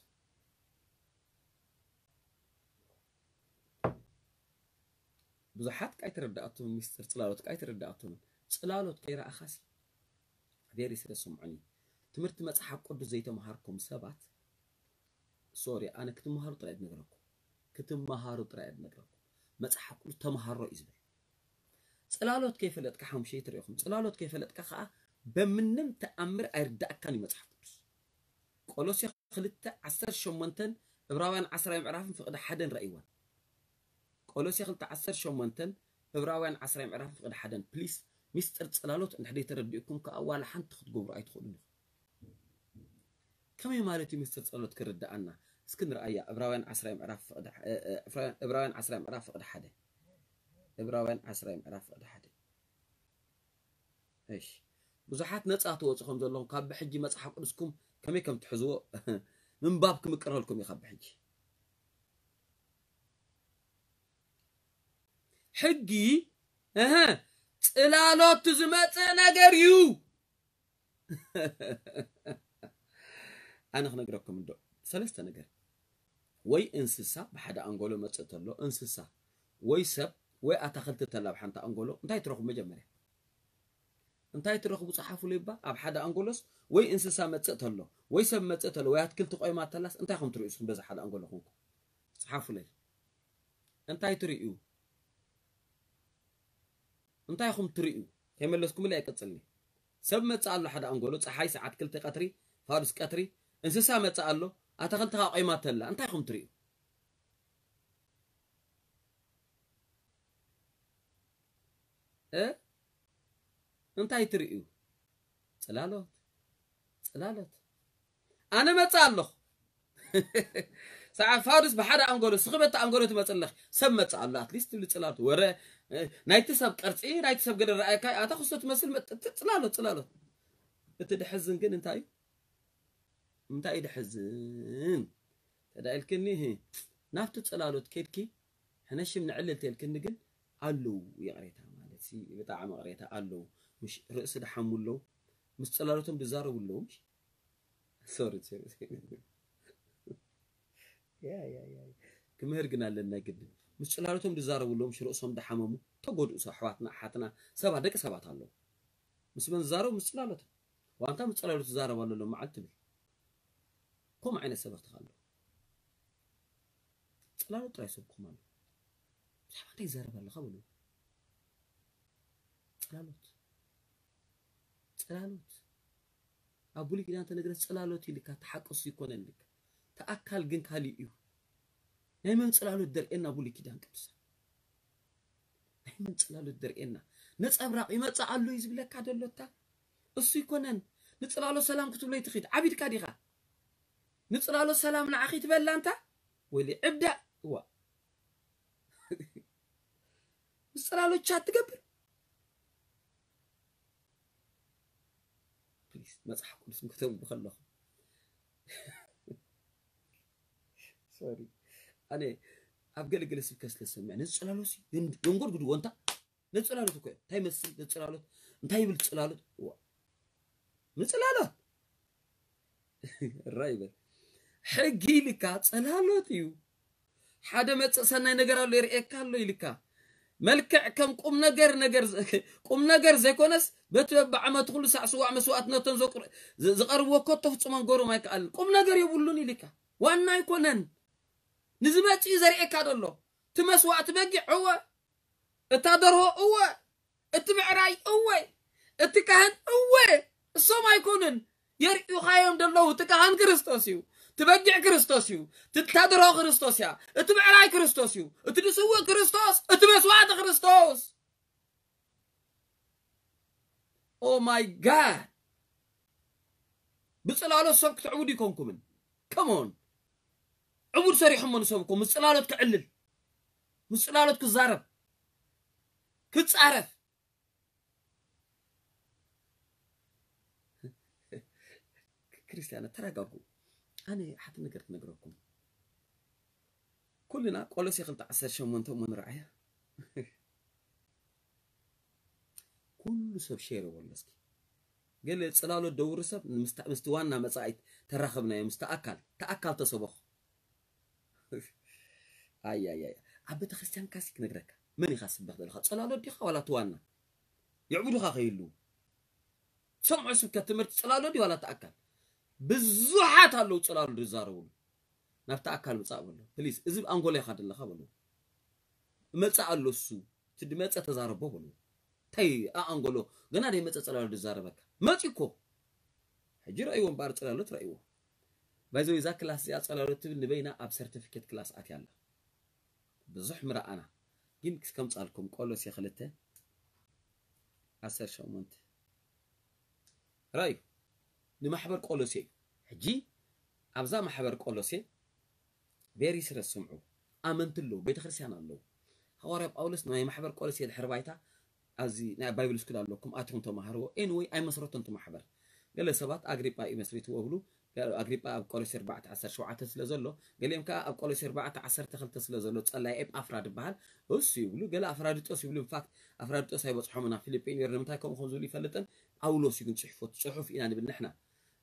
ብዙሓት ቃይ ተረዳኣቶም ሚስጥር ጽላሎት ቃይ ተረዳኣቶም ጽላሎት ከይረኣኻሲ ዴሪ ስለ ስምዑኒ። ትምህርቲ መጽሓፍ ቅዱስ ዘይተምሃርኩም ሰባት ሶሪ ኣነ ክትመሃሩ ጥራይ ዝነግረኩም ክትመሃሩ ጥራይ ዝነግረኩም መጽሓፍ ቅዱስ ተምሃሮ እዩ ዝብል። ጽላሎት ከይፈለጥካ ሓሙሽተ ትሪኢኹም ጽላሎት ከይፈለጥካ ከዓ በምንም ተኣምር ኣይርዳእካን እዩ መጽሓፍ ቅዱስ። ቆሎሴ ክልተ ዓሰርተ ሸሞንተን ዕብራውያን ዓስራይ ምዕራፍን ፍቕዲ ሓደን ረእይወን። ቆሎሴ ክልተ ዓሰርተ ሸሞንተን ዕብራውያን ዓስራይ ምዕራፍን ፍቕዲ ሓደን ፕሊስ። ሚስጥር ጽላሎት እንድሕር ተረዲእኩም ከዓ ዋላ ሓንቲ ክትገብሩ ኣይትኽእሉን ኢኹም። ከመይ ማለት እዩ ሚስጥር ጸሎት ክርድኣና? እስኪ ንርኣያ። ዕብራውያን ዓስራይ ምዕራፍ ፍቕዲ እ- እ- ዕብራውያን ዕስራይ ምዕራፍ ፍቕዲ ሓደ። ዕብራውያን ዓስራይ ምዕራፍ ፍቕዲ ሓደ። እሺ፣ ብዙሓት ነጻ ትወፁ ከም ዘለኹም ካብ ብሕጂ መጽሓፍ ቅዱስኩም ከመይ ከም ትሕዝዎ ምንባብ ክምቅረልኩም እዩ ካብ ብሕጂ። ሕጊ እህ ጽላሎት ዝመጽእ ነገር እዩ። ኣነ ክነግረኩም እንዶ ሰለስተ ነገር። ወይ እንስሳ ብሓደ ኣንጎሎ መጽእ ተሎ እንስሳ ወይ ሰብ ወይ ኣታኽልቲ ተላ ኣብ ሓንቲ ኣንጎሎ እንታይ ትረኽቡ? መጀመርያ እንታይ ትረኽቡ? ጸሓፉ ልባ ኣብ ሓደ ኣንጎሎስ ወይ እንስሳ መጽእ ተሎ ወይ ሰብ መጽእ ተሎ ወይ ኣትክልቲ ቆይማ ተላስ እንታይ ኹም ትርእዩ ንስኹም በዚ ሓደ ኣንጎሎ ኹንኩም? ጸሓፉለይ። እንታይ ትርእዩ? እንታይ ኹም ትርእዩ? ከይመለስኩምለይ ኣይቀጽልኒ። ሰብ መጽእ ኣሎ ሓደ ኣንጎሎ፣ ጸሓይ ሰዓት ክልተ ቀትሪ፣ ፋዱስ ቀትሪ፣ እንስሳ መጽእ ኣሎ፣ ኣታኽልቲ ኸዓ ቆይማ ተላ። እንታይ ኹም ትርእዩ? እ እንታይ ትርእዩ? ጽላሎት ጽላሎት ኣነ መጽእ ኣለኹ። ሰዓ ፋዱስ ብሓደ ኣንጎሎ ስኽበቲ ኣንጎሎ ትመጽእ ኣለኺ። ሰብ መጽእ ኣሎ ኣትሊስት ትብሊ ጽላሎት ወረ እ፣ ናይቲ ሰብ ቅርጺ ናይቲ ሰብ ገለ ረኣየካ ኣታ ክስቶ ትመስል መጥ- ት- ጽላሎት ጽላሎት። እቲ ድሕዝን ግን እንታይ እዩ? እንታይ እዩ ድሕዝን? ተዳኢልክኒ ህ ናብቲ ጽላሎት ኬድኪ ሕነሽም ንዕልል ተልክኒ ግን ኣለዉ ይቕሬታ ማለት ሲ ብጣዕሚ ይቕሬታ ኣለዉ። ምሽ ርእሲ ድሓሙ ኣለዉ ምስ ጽላሎቶም ድዛረቡ ኣለዉ ምሽ ሶሪ ሶሪ ያ ያ ያ ክምህር ግን ኣለና ግድን ምስ ጽላሎቶም ድዛረቡ ኣለዉ ምሽ ርእሶም ድሓመሙ ተጎድኡ ኣሕዋትና ኣሓትና ሰባት ደቂ ሰባት ኣለዉ ምስ መን ዝዛረቡ ምስ ጽላሎቶም ዋንታ ምስ ጽላሎት ዝዛረብ ኣሎ ሎም መዓልቲ ትብል ከምኡ ዓይነት ሰባት ኣለዉ ጽላሎት ጥራይ ሰብኩም ኣሎ ብዛዕባ እንታይ ይዛረብ ኣለኻ በሉ ጽላሎት ጽላሎት ኣብ ብሉይ ኪዳን ተነግረ ጽላሎት ኢልካ ተሓቅሱ ይኮነልካ ተኣካል ግን ካሊእ እዩ ናይ መን ጽላሎት ደርእየና ብሉይ ኪዳን ቅዱሳን ናይ መን ጽላሎት ደርእየና ነጸብራቕ ይመጽእ ኣሎ እዩ ዝብለካ ደሎታ እሱ ይኮነን ንጽላሎ ሰላም ክትብሎ ይትኺድ ዓቢድካ ዲኻ ንጽላሎ ሰላም ንዓኺ ትበላ እንታ ወሊ ዕብዳ እዋ ምስ ጽላሎ ቻት ትገብር ፕሊስ መጽሓፍ ቅዱስ ከተንቡ ከለኹ ሶሪ ኣነ ኣብ ገለገለ ስብከት ስለ ዝሰምዕ ነዚ ጽላሎሲ የንጎድጉድዎ እንታ ነዚ ጽላሎት እኮ እንታይ መስል ነዚ ጽላሎት እንታይ ይብል ጽላሎት ንጽላሎት ራ ይበል ሕጊ ኢልካ ጽላሎት እዩ ሓደ መጽእ ሰናይ ነገር ኣሎ ይርእየካ ኣሎ ኢልካ መልክዕ ከም ቁም ነገር ነገር ቁም ነገር ዘይኮነስ በቲ በብዓመቱ ኩሉ ሳዕ ስዋዕ መስዋእትነቶም ዝቐርብዎ ኮቶ ፍጹም ኣንጎሮም ኣይከኣልን ቁም ነገር የብሉን ኢልካ ዋና ኣይኮነን ንዝመጽእ እዩ ዘርእየካ ዘሎ እቲ መስዋእቲ በጊዕ እወ እታ ደርሆ እወ እቲ ምዕራይ እወ እቲ ካህን እወ እሶም ኣይኮኑን። የርእዩኻ እዮም ዘለዉ። እቲ ካህን ክርስቶስ እዩ። እቲ በጊዕ ክርስቶስ እዩ። እቲ ታድሮ ክርስቶስ እያ። እቲ ብዕራይ ክርስቶስ እዩ። እቲ ድስውእ ክርስቶስ፣ እቲ መስዋዕቲ ክርስቶስ። Oh my God! ብጽላሎት ሰብ ክትዕቡድ ይኮንኩምን። Come on! ዕቡድ ሰሪሖሞ ንሰብ እኮ ምስ ጽላሎት ክዕልል፣ ምስ ጽላሎት ክዛረብ፣ ክጻረፍ። ክርስቲያናት ተረጋጉ። ኣነ ሓንቲ ነገር ክነግረኩም። ኩልና ቆሎሴ ክልተ ዓሰርተ ሸሞንተ እሞ ንርኣያ። ኩሉ ሰብ ሼር የበሎ እስኪ። ገለ ጽላሎት ደውሪ ሰብ ምስቲ ዋና መጻኢት ተራኸብናዮ፣ ምስቲ ኣካል፣ ተኣካል ተሰበኹ። ኣይ ኣይ ኣይ ኣብ ቤተ ክርስቲያን ካሲ ክነግረካ፣ መን ኢኻ ስበኽ ዘለኻ? ጽላሎት ዲኻ ዋላ እቲ ዋና? የዕቡዱኻ ከይህልዉ ሰምዑ። ስብከት ትምህርቲ ጽላሎት ድዩ ዋላ እቲ ኣካል? ብዙሓት ኣለዉ ጽላሎት ዝዛረቡሉ። ናብቲ ኣካል ምጻእ በሎ ፕሊዝ። እዚ ኣንጎሎ ኢኻ ዘለኻ በሎ። እመጽእ ኣሎ እሱ። እቲ ድመጸ ተዛረቦ በሎ። እንታይ ኣኣንጎሎ? ገና ደይመጸ ጽላሎት ዝዛረበካ። መጺ እኮ። ሕጂ ረእይዎ እምበኣር ጽላሎት ረእይዎ። ባይዘው እዛ ክላስ እዚኣ ጽላሎት ትብል ንበይና ኣብ ሰርቲፊኬት ክላስ ኣትያ ኣላ። ብዙሕ ምረኣና። ግን ከምጻልኩም ቆሎሴ ክልተ ዓሰርተ ሸሞንተ ራዩ ንማሕበር ቆሎሴ እዩ። ሕጂ ኣብዛ ማሕበር ቆሎሴ ቬሪ ስረስ ስምዑ። ኣመንቲ ኣለዉ፣ ቤተክርስትያን ኣለዉ። ሃዋርያ ጳውሎስ ናይ ማሕበር ቆሎሴ ድሕሪ ባይታ ኣብዚ ናይ ባይብል ስኩል ኣለኩም ኣትኹም ተማሃርዎ። ኤንወይ ኣይመስረቶን እቲ ማሕበር። ገለ ሰባት ኣግሪጳ እዩ መስሪትዎ ብሉ። ኣግሪጳ ኣብ ቆሎሴ ኣርባዕተ ዓሰርተ ሸውዓተ ስለ ዘሎ፣ ገሊኦም ከኣ ኣብ ቆሎሴ ኣርባዕተ ዓሰርተ ክልተ ስለ ዘሎ ጸላይ ኤጳፍራ ድበሃል እሱ ይብሉ። ገለ ኣፍራዲጦስ ይብሉ። ኢንፋክት ኣፍራዲጦስ ኣይበጽሖምን ኣብ ፊልጲ ነይሩ። ንምንታይ ከምኡ ከም ዝብሉ ይፈልጥን። ጳውሎስ እዩ ግን ጽሕፎ ጽሑፍ ኢና ንብል ንሕና።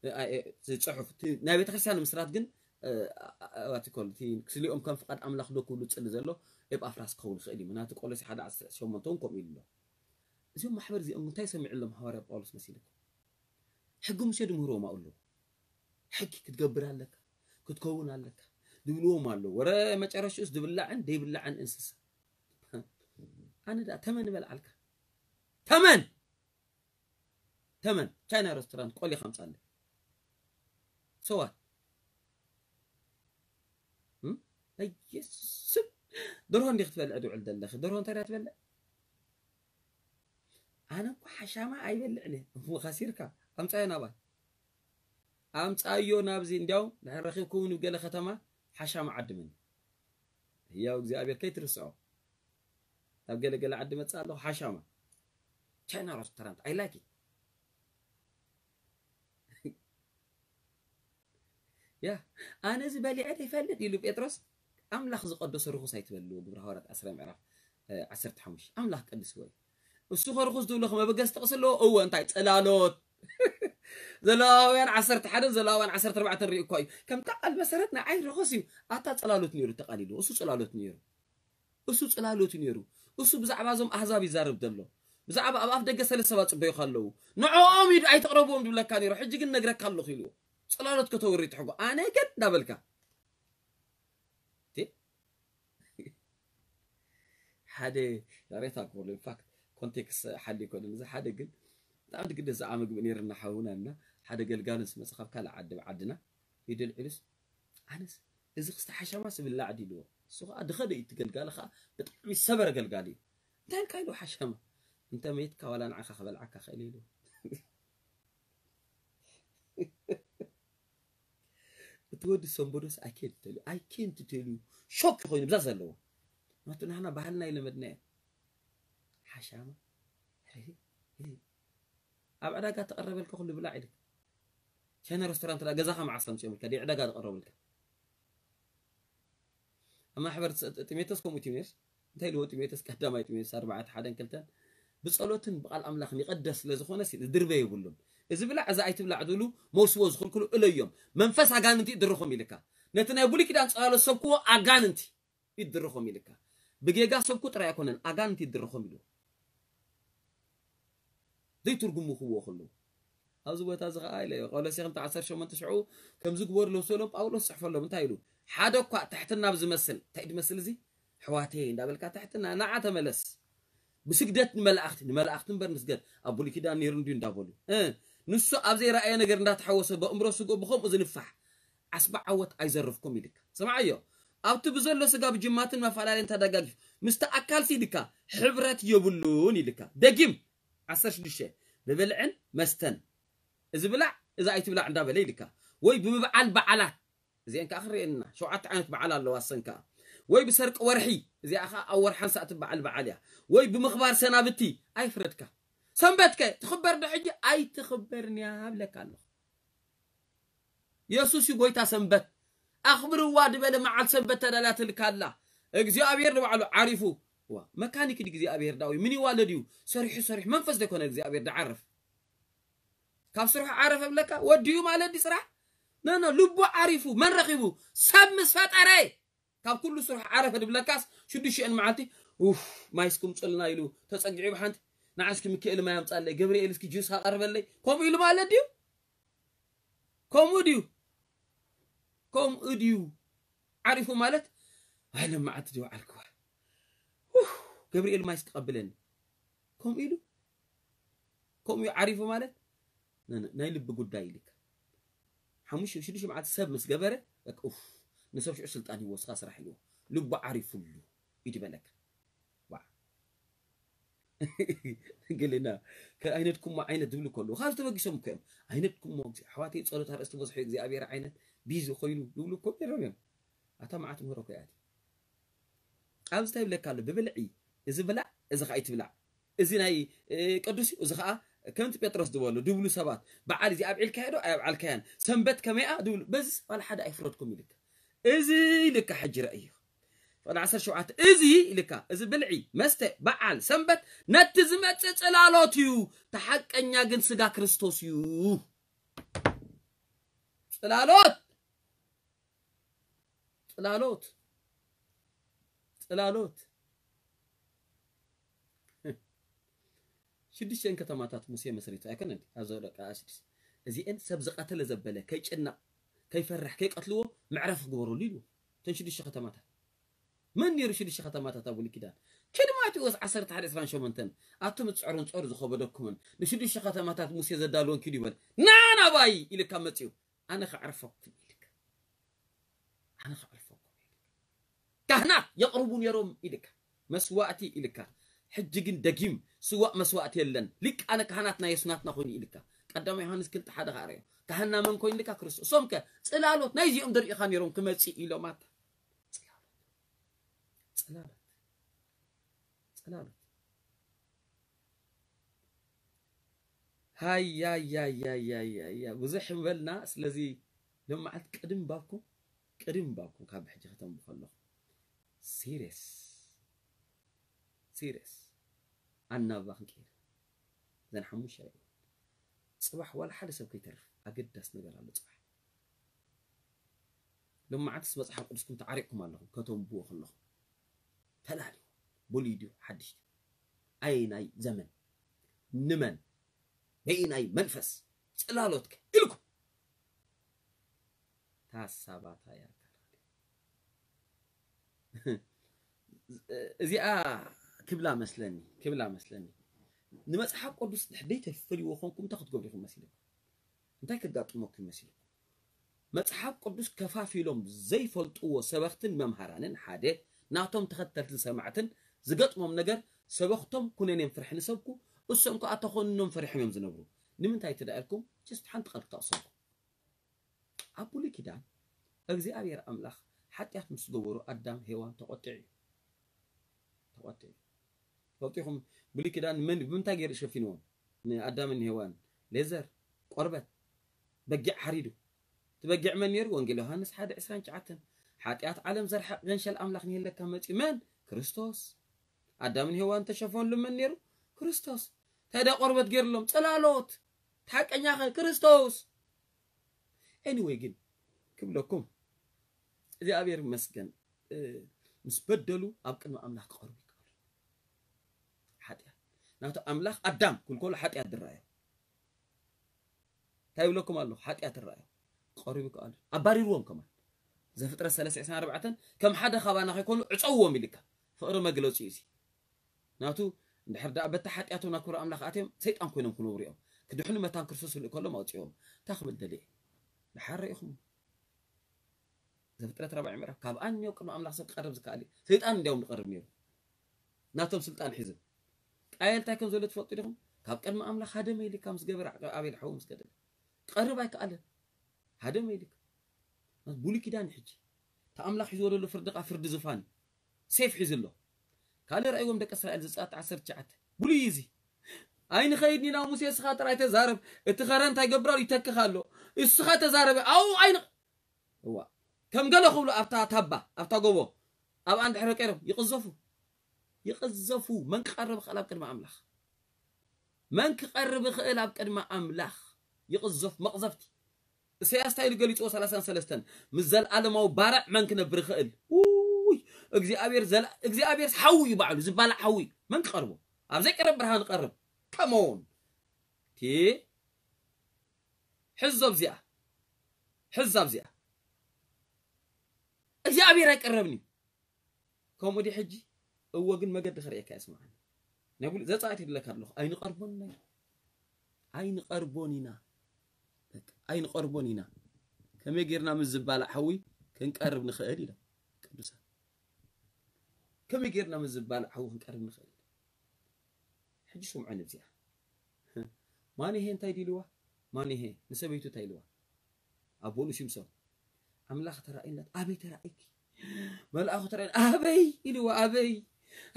እ፣ እ፣ ዝጽሑፍ እቲ ናይ ቤተክርስትያን ምስራት ግን እ፣ እ፣ እ፣ what you call it፣ እቲ ክስሊኦም ከም ፍቃድ ኣምላኽ ዶ ክብሉ ዝጽሊ ዘሎ ኤጳፍራስ ክኸውን ይኽእል እዩ። ምክንያቱ ቆሎሴ ሓደ ዓሰርተ ሸሞንተ እውን ከምኡ ኢሉ ኣሎ። እዚኦም ማሕበር እዚኦም እንታይ ሰሚዑሎም ሃዋርያ ጳውሎስ መሲልኩም? ሕጊ ሙሴ ድምህርዎም ኣብኡ ኣለዉ። ሕጊ ክትገብር ኣለካ፣ ክትከውን ኣለካ ድብልዎም ኣለዉ። ወረ መጨረሽኡስ ድብላዕን ደይብላዕን እንስሳ። ኣነ ደኣ ተመን ይበልዓልካ። ተመን! ተመን! ቻይና ሬስቶራንት ቆሊ ከምጻለ። ሰዋት? እም? በየስም! ደርሆ እንዲኺ ክትበልዕ ድውዕል ዘለኺ። ደርሆ እንታይ ደኣ ትበልዕ? ኣነ እኮ ሓሻማ ኣይበልዕን እየ። እሞ ከሲርካ። ኣምጻዮ ናባይ። ኣምጻዮ ናብዚ። እንዲያው ድሕር ረኺብኩም ንገለ ከተማ ሓሻማ ዓድመኒ። ህያው እግዚኣብሔር ከይትርስዖ። ናብ ገለ ገለ ዓዲ መጽእ ኣለኹ ሓሻማ። ቻይና ሬስቶራንት። I like it። ያ፣ ኣነ እዚ በሊዐ ዘይፈልጥ ኢሉ ጴጥሮስ፣ ኣምላኽ ዝቐደሶ ርኹስ ኣይትበልዎ። ግብረ ሃዋርያት ዓስራ ምዕራፍ፣ እ፣ ዓሰርተ ሓሙሽተ። ኣምላኽ ቀድስዎ እዩ። እሱ ኸ ርኹስ ዝብሎ ኸ መበገሲ ጥቕሲ ኣለዎ? እወ፣ እንታይ? ጽላሎት። ዘለዋውያን ዓሰርተ ሓደን ዘለዋውያን ዓሰርተ ኣርባዕተን ሪኡ እኳ እዩ። ከምታ ቃል መሰረት ንዓይ ርኹስ እዩ። ኣታ ጽላሎት ነይሩ ተቓሊልዎ። እሱ ጽላሎት ነይሩ። እሱ ጽላሎት እዩ ነይሩ። እሱ ብዛዕባ እዞም ኣህዛብ ይዛረብ ዘሎ። ብዛዕባ ኣብ ኣፍ ደገ ሰለስተ ሰባት ጽበዩ ከለዉ። ንዕኦም ኢዱ ኣይትቕረብዎም ድብለካ ነይሩ። ሕጂ ግን ነግረካ ኣለኹ ኢልዎ። ጽላሎት ከተውሪ ትሕጎ። ኣነ ግን እንዳበልካ። እቲ ሓደ ዛሬታ ክብሉ፣ ኢንፋክት፣ ኮንቴክስት ሓሊ ይኮነ። እዚ ሓደ ግን ብጣዕሚ ድግደስ ዝዓ ምግቢ ነይርና ሓውና እና ሓደ ገልጋሉ ምስ መጽእ ካብ ካልእ ዓዲ ብዓድና ኢዱ ኣልዒሉስ፣ ኣነስ እዚ ክስተ ሓሻማ ስብላዕ ድዩ ኢልዎ። እሱ ኸዓ ድኸደ እዩ፣ እቲ ገልጋሊ ኸዓ ብጣዕሚ ሰበረ ገልጋሊ እዩ። እንታይ ኢልካ ኢልዎ ሓሻማ? እንተ መይትካ ዋላ ንዓኻ ክበልዓካ ክእል ኢልዎ። እቲ ወዲ ሰንበዶስ I can't tell you, I can't tell you። ሾክ ኮይኑ ብዛ ዘለዎ። ምክንያቱ ናህና ባህልና ይለመድናዮ። ሓሻማ። ኣብ ዕዳጋ ተቐረበልካ ኩሉ ብላዕ ኢልካ። ቻይና ሬስቶራንት ዳ ገዛኻ መዓስ ከምጽኦም ኢልካ፣ ድዩ ዕዳጋ ዝቐረቡልካ? ኣብ ማሕበር ስ-፣ ጢሞቴዎስ ከምኡ፣ ጢሞቴዎስ እንታይ ኢልዎ? ጢሞቴዎስ ቀዳማይ ጢሞቴዎስ ኣርባዕተ ሓደን ክልተን፣ "ብጸሎትን ብቓል ኣምላኽን ይቐደስ ስለ ዝኾነ ሲ-፣ ዝድርበ የብሉን። እዚ ብላዕ፣ እዚ ኣይትብላዕ" ዝብሉ መውስቦ ዝኽልክሉ እለዮም። መንፈስ ኣጋንንቲ ይድርኾም ኢልካ። ነቲ ናይ ብሉይ ኪዳን ጸላሎት ሰብክዎ ኣጋንንቲ ይድርኾም ኢልካ። ብጌጋ ሰብኩ ጥራይ ኣይኮነን፣ ኣጋንንቲ ይድርኾም ኢሉ። ዘይትርጉሙ ክብዎ ከለዉ። ኣብዚ ቦታ እዚ ኸዓ ኢለ፣ ቆሎሴ ክልተ ዓሰርተ ሸሞንተ ሽዑ ከምዚ ግበሩ ስበሎም ጳውሎስ ጽሕፈሎም። እንታይ ኢሉ? "ሓደ እኳ ትሕትና ብዝመስል", እንታይ ድመስል እዚ? "ኣሕዋተይ" እንዳበልካ ትሕትና፣ ንዓ ተመለስ። ብስግደት ንመላእኽቲ፣ ንመላእኽቲ እምበር ንስገድ። ኣብ ብሉይ ኪዳን ነይሩ እንድዩ እንዳበሉ። እ፣ ንሱ ኣብ ዘይረኣየ ነገር እንዳተሓወሰ ብእምሮ ስግኡ ብኸምኡ ዝንፋሕ ዓስቢ ዓወት ኣይዘርፍኩም ኢልካ። ስምዓዮ፣ ኣብቲ ብዘሎ ስጋ ብጅማትን መፈላለይን ተደጋጊፉ ምስቲ ኣካልሲ ኢልካ ሕብረት የብሉን ኢልካ። ደጊም ዓሰርተ ሽዱሽተ ብብልዕን መስተን እዚ ብላዕ እዚ ኣይትብላዕ እንዳበለ ኢልካ ወይ ብምብዓል በዓላት እዚአን ከዓ ክንሪኤን ኢና። ሸውዓተ ዓይነት በዓል ኣለዋ። እሰን ከዓ ወይ ብሰርቂ ወርሒ፣ እዚኣ ከዓ ኣብ ወርሓን ሰዓትን በዓል በዓል እያ። ወይ ብምኽባር ሰናብቲ ኣይፍረድካ። ሰንበትከ ትኽበር ዶ ሕጂ? ኣይትኽበርን እያ ብለካ ኣለኹ። የሱስ እዩ ጎይታ ሰንበት። ኣኽብርዋ ዝበለ መዓል ሰንበት ተዳላትልካ ኣላ። እግዚኣብሔር ንባዕሉ ዓሪፉ። ዋ፣ መካኒክ ድዩ እግዚኣብሔር ዳዊ? ምን ይዋለድ እዩ? ሰሪሑ ሰሪሑ መንፈስ ዘይኮነ እግዚኣብሔር ድዓርፍ። ካብ ስርሑ ዓረፈ ብለካ ወዲኡ ማለት ድዩ ስራሕ? ኖ፣ ኖ፣ ልቡ ዓሪፉ መን ረኺቡ? ሰብ ምስ ፈጠረ ካብ ኩሉ ስርሑ ዓረፈ ድብለካስ ሽዱሽተን መዓልቲ ኡፍ ማይ እስኪ ምፅልና ኢሉ ተፀጊዑ ብሓንቲ ንዓስኪ ሚካኤል ማይ ኣምፃለይ፣ ገብርኤል እስኪ ጁስ ኣቐርበለይ ከምኡ ኢሉ ማለት ድዩ? ከምኡ ድዩ? ከምኡ ድዩ? ዓሪፉ ማለት ኣይ ለማዓት ድዩ ዓልክዋ? ኡፍ፣ ገብርኤል ማይ እስኪ ቀብለኒ ከምኡ ኢሉ ከምኡ ዓሪፉ ማለት ነ- ነ- ናይ ልቢ ጉዳይ ኢልካ ሓሙሽተ ሽዱሽተ መዓልቲ ሰብ ምስ ገበረ በቃ ኡፍ ንሰብ ሽዑ ስልጣን ይወስኻ ስራሕ ኢልዎ ልቡ ዓሪፉሉ ይድበለካ ዋ ገሌና ከ- ኣይነድኩሞ ዓይነት ዝብሉ ከለዉ ካብ ተበጊሶም እኮ እዮም ኣይነድኩሞ ኣሕዋተይ ፀሎት ኣርእስቲ በዝሑ እግዚኣብሔር ዓይነት ቢዚ ኮይኑ ዝብሉ እኮ ነይሮም እዮም ኣታ መዓት ምህሮ እኮ እያ ኣብዚ እንታይ ይብለካ ኣሎ ብብልዒ እዚ ብላዕ እዚ ከዓ ይትብላዕ እዚ ናይ ቅዱስ እዩ እዚ ከዓ ከምቲ ጴጥሮስ ዝበሎ ድብሉ ሰባት በዓል እዚ ኣብዒልካዮ ዶ ኣይኣብዓልካያን ሰንበት ከመይኣ ድብሉ በዚ ዋላ ሓደ ኣይፍረድኩም ይልካ እዚ ይልካ ሕጂ ረእዩ ፍቅዲ ዓሰርተ ሸውዓተ እዚ ይልካ እዚ ብልዒ መስተ በዓል ሰንበት ነቲ ዝመፅእ ፅላሎት እዩ ተሓቀኛ ግን ስጋ ክርስቶስ እዩ ፅላሎት ፅላሎት ፅላሎት ሽዱሽተን ከተማታት ሙሴ መስሪቱ ኣይኮነን ኣብ ዘውደቃ ሽዱሽተ እዚአን ሰብ ዝቀተለ ዘበለ ከይጭናቅ ከይፈርሕ ከይቀትልዎ መዕረፊ ክግበረሉ ኢሉ እተን ሽዱሽተ ከተማታት መን ነይሩ ሽዱሽተ ከተማታት ኣብ ብሉይ ኪዳን ኪድ ማቴዎስ ዓሰርተ ሓደ ዕስራን ሸሞንተን ኣቱም ትፅዕሩን ፆር ዝኸበደኩምን ንሽዱሽተ ከተማታት ሙሴ ዘዳልወን ኪዱ ይበል ና ናባይ ኢልካ መፅኡ ኣነ ከዕርፈኩም ኢልካ ኣነ ከዕርፈኩም ኢልካ ካህናት የቕርቡ ነይሮም ኢልካ መስዋእቲ ኢልካ ሕጂ ግን ደጊም ስዋእ መስዋእቲ የለን ሊቃነ ካህናት ናይ የሱናትና ኮይኑ ኢልካ ቀዳማ ዮሃንስ ክልተ ሓደ ከኣረዮ ካህና መን ኮይኑ ኢልካ ክርስቶስ እሶም ከ ፅላሎት ናይዚኦም ደሪእኻ ነይሮም ክመፅእ ኢሎም ኣታ ፅላሎት ፅላሎት ፅላሎት ሃያያያያያያ ብዙሕ ንበልና ስለዚ ሎም መዓልቲ ቅድም ባብኩም ቅድም ባብኩም ካብ ሕጂ ከተንቡ ከለኹም ሲሪየስ ሲሪየስ ኣናብባ ክንቀይር ዘን ሓሙሽተ ርእ ፅባሕ ዋላ ሓደ ሰብ ከይተርፍ ኣገዳስ ነገር ኣሎ ፅባሕ ሎም መዓልትስ መፅሓፍ ቅዱስኩም ተዓሪቕኩም ኣለኹም ከተንብዎ ከለኹም ተላልዩ ብሉይ ድዩ ሓድሽ ድዩ ኣየናይ ዘመን ንመን በየናይ መንፈስ ጽላሎትከ ኢልኩም ታሳባታ ያርካል እዚኣ ክብላ መስለኒ ክብላ መስለኒ ንመጽሓፍ ቅዱስ ድሕደይ ተፈልይዎ ኮንኩም እንታይ ክትገብሩ ኢኹም መሲልኩም እንታይ ከጋጥመኩም መሲልኩም መጽሓፍ ቅዱስ ከፋፊሎም ዘይፈልጥዎ ሰበኽትን መምሃራንን ሓደ ናቶም ተኸተልትን ሰማዕትን ዝገጥሞም ነገር ሰበኽቶም ኩነኔም ፍርሒ ንሰብኩ እሶም ከዓ ተኾንኖም ፈሪሖም እዮም ዝነብሩ ንምንታይ ትዳ ኢልኩም ጅስት ሓንቲ ቃል ክጠቕሰልኩም ኣብ ብሉይ ኪዳን እግዚኣብሔር ኣምላኽ ሓጢኣት ምስ ገበሩ ኣዳም ሄዋን ተቆጢዑ እዩ ተቆጢዑ ፈልጢኹም ብሉይ ኪዳን መን ብምንታይ ገይሩ ሸፊንዎም ንኣዳምን ሄዋን ሌዘር ቆርበት በጊዕ ሓሪዱ እቲ በጊዕ መን ነይሩ ወንጌል ዮሃንስ ሓደ ዕስራን ትሽዓተን ሓጢኣት ዓለም ዘርሕቕ ገንሸል ኣምላኽ ንሄለካ መፂ መን ክርስቶስ ኣዳምን ሄዋን ተሸፈንሉ መን ነይሩ ክርስቶስ እንታይ ዳ ቆርበት ገይርሎም ፅላሎት ሓቀኛ ኸ ክርስቶስ anyway ግን ክብለኩም እግዚኣብሔር ይመስገን ምስ በደሉ ኣብ ቅድሚ ኣምላኽ ክቐርቡ ይከኣሉ ሓጢኣት ናቱ ኣምላኽ ኣዳም ክልኮሉ ሓጢኣት ዝረኣዮ እንታይ ይብለኩም ኣሎ ሓጢኣት ዝረኣዮ ክቐርቡ ይከኣሉ ኣባሪርዎም ከማን ዘፍጥረት ሰለስተ ዕስራን ኣርባዕተን ከም ሓደ ካባና ከይኮኑ ዕፀውዎም ኢልካ ፍቕሪ መግለፂ እዩ ናቱ እንድሕር ደኣ በቲ ሓጢኣቶም ናብ ክብሪ ኣምላኽ ኣትዮም ሰይጣን ኮይኖም ክነብሩ እዮም ክድሕኑ መታን ክርስቶስ ክልእ ከሎም ኣውፅኦም። እንታይ ክብል ደልየ? ድሓር ርኢኹም። ዘፍጥረት ራብዓይ ምዕራፍ፣ ካብ ኣንዮ ቅድሚ ኣምላኽ ሰብ ክቐርብ ዝከኣል እዩ። ሰይጣን እንዲያውም ዝቐርብ ነይሩ። ናቶም ስልጣን ሒዙ። ቃየል እንታይ ከም ዘሎ ትፈልጡ ዲኹም? ካብ ቅድሚ ኣምላኽ ሃደመ ኢልካ ምስ ገበረ ኣቤል ሓዉ ምስ ገደለ። ክቐርብ ኣይከኣለን። ሃደመ ኢልካ። ብሉይ ኪዳን ሕጂ። እቲ ኣምላኽ ሒዝዎ ዘሎ ፍርዲ ኸዓ ፍርዲ ዝፋን። ሴፍ ሒዙ ኣሎ። ካልእ ርኣይዎም ደቂ እስራኤል ዘጸኣት ዓሰርተ ትሽዓተ። ብሉይ እዩ እዚ። ኣይንኸይድን ኢና ሙሴ እስኻ ጥራይ ተዛረብ። እቲ ኸረን እንታይ ይገብር ኣሎ? ይተክኽ ኣሎ። እስኻ ተዛረበ። ኣው ኣይን-፣ እዋ። ከም ገለ ክብሉ ኣብታ ታባ፣ ኣብታ ጎቦ፣ ኣብኣ እንድሕር ቀይሮም ይቕዘፉ። ይቕዘፉ። መን ክቐርብ ይኽእል ኣብ ቅድሚ ኣምላኽ? መን ክቐርብ ይኽእል ኣብ ቅድሚ ኣምላኽ? ይቕዘፍ መቕዘፍቲ። ኢሳያስ እንታይ ኢሉ ገሊጽዎ? ሰላሳን ሰለስተን ምስ ዘለኣለማዊ ባርዕ መን ክነብር ይኽእል? ውይ፣ እግዚኣብሔር ዘላ-፣ እግዚኣብሔርስ ሓዊ እዩ ባዕሉ፣ ዝባላዕ ሓዊ እዩ። መን ክቐርቦ? ኣብ ዘይቀርብ ብርሃን ክቐርብ። ከመውን። እቲ ሕዞ ኣብዚኣ። ሕዛ ኣብዚኣ። እግዚኣብሔር ኣይቀረብን እዩ። ከምኡ ድዩ ሕጂ? እወ፣ ግን መገዲ ከርእየካ እየ፣ ስምዓኒ። ናይ ብሉ-፣ ዘጻእት ይብለካ ኣለኹ። ኣይንቐርቦን ኢና። ኣይንቐርቦን ኢና። በቃ፣ ኣይንቐርቦን ኢና። ከመይ ጌርና ምስ ዝባላዕ ሓዊ ክንቀርብ ንኽእል ኢሎም ቅዱሳን። ከመይ ጌርና ምስ ዝባላዕ ሓዊ ክንቀርብ ንኽእል? ሕጂ ስምዑኒ እዚኣ። ማንሄ እንታይ ድዩ ኢልዋ? ማንሄ ንሰበይቱ እንታይ ኢልዋ? ኣቦኡ ንሲምሶን፣ ኣምላኽ ተራእዩና፣ ኣበይ ተራእይኪ? መልኣኹ ተራእዩና፣ ኣበይ ኢልዋ፣ ኣበይ?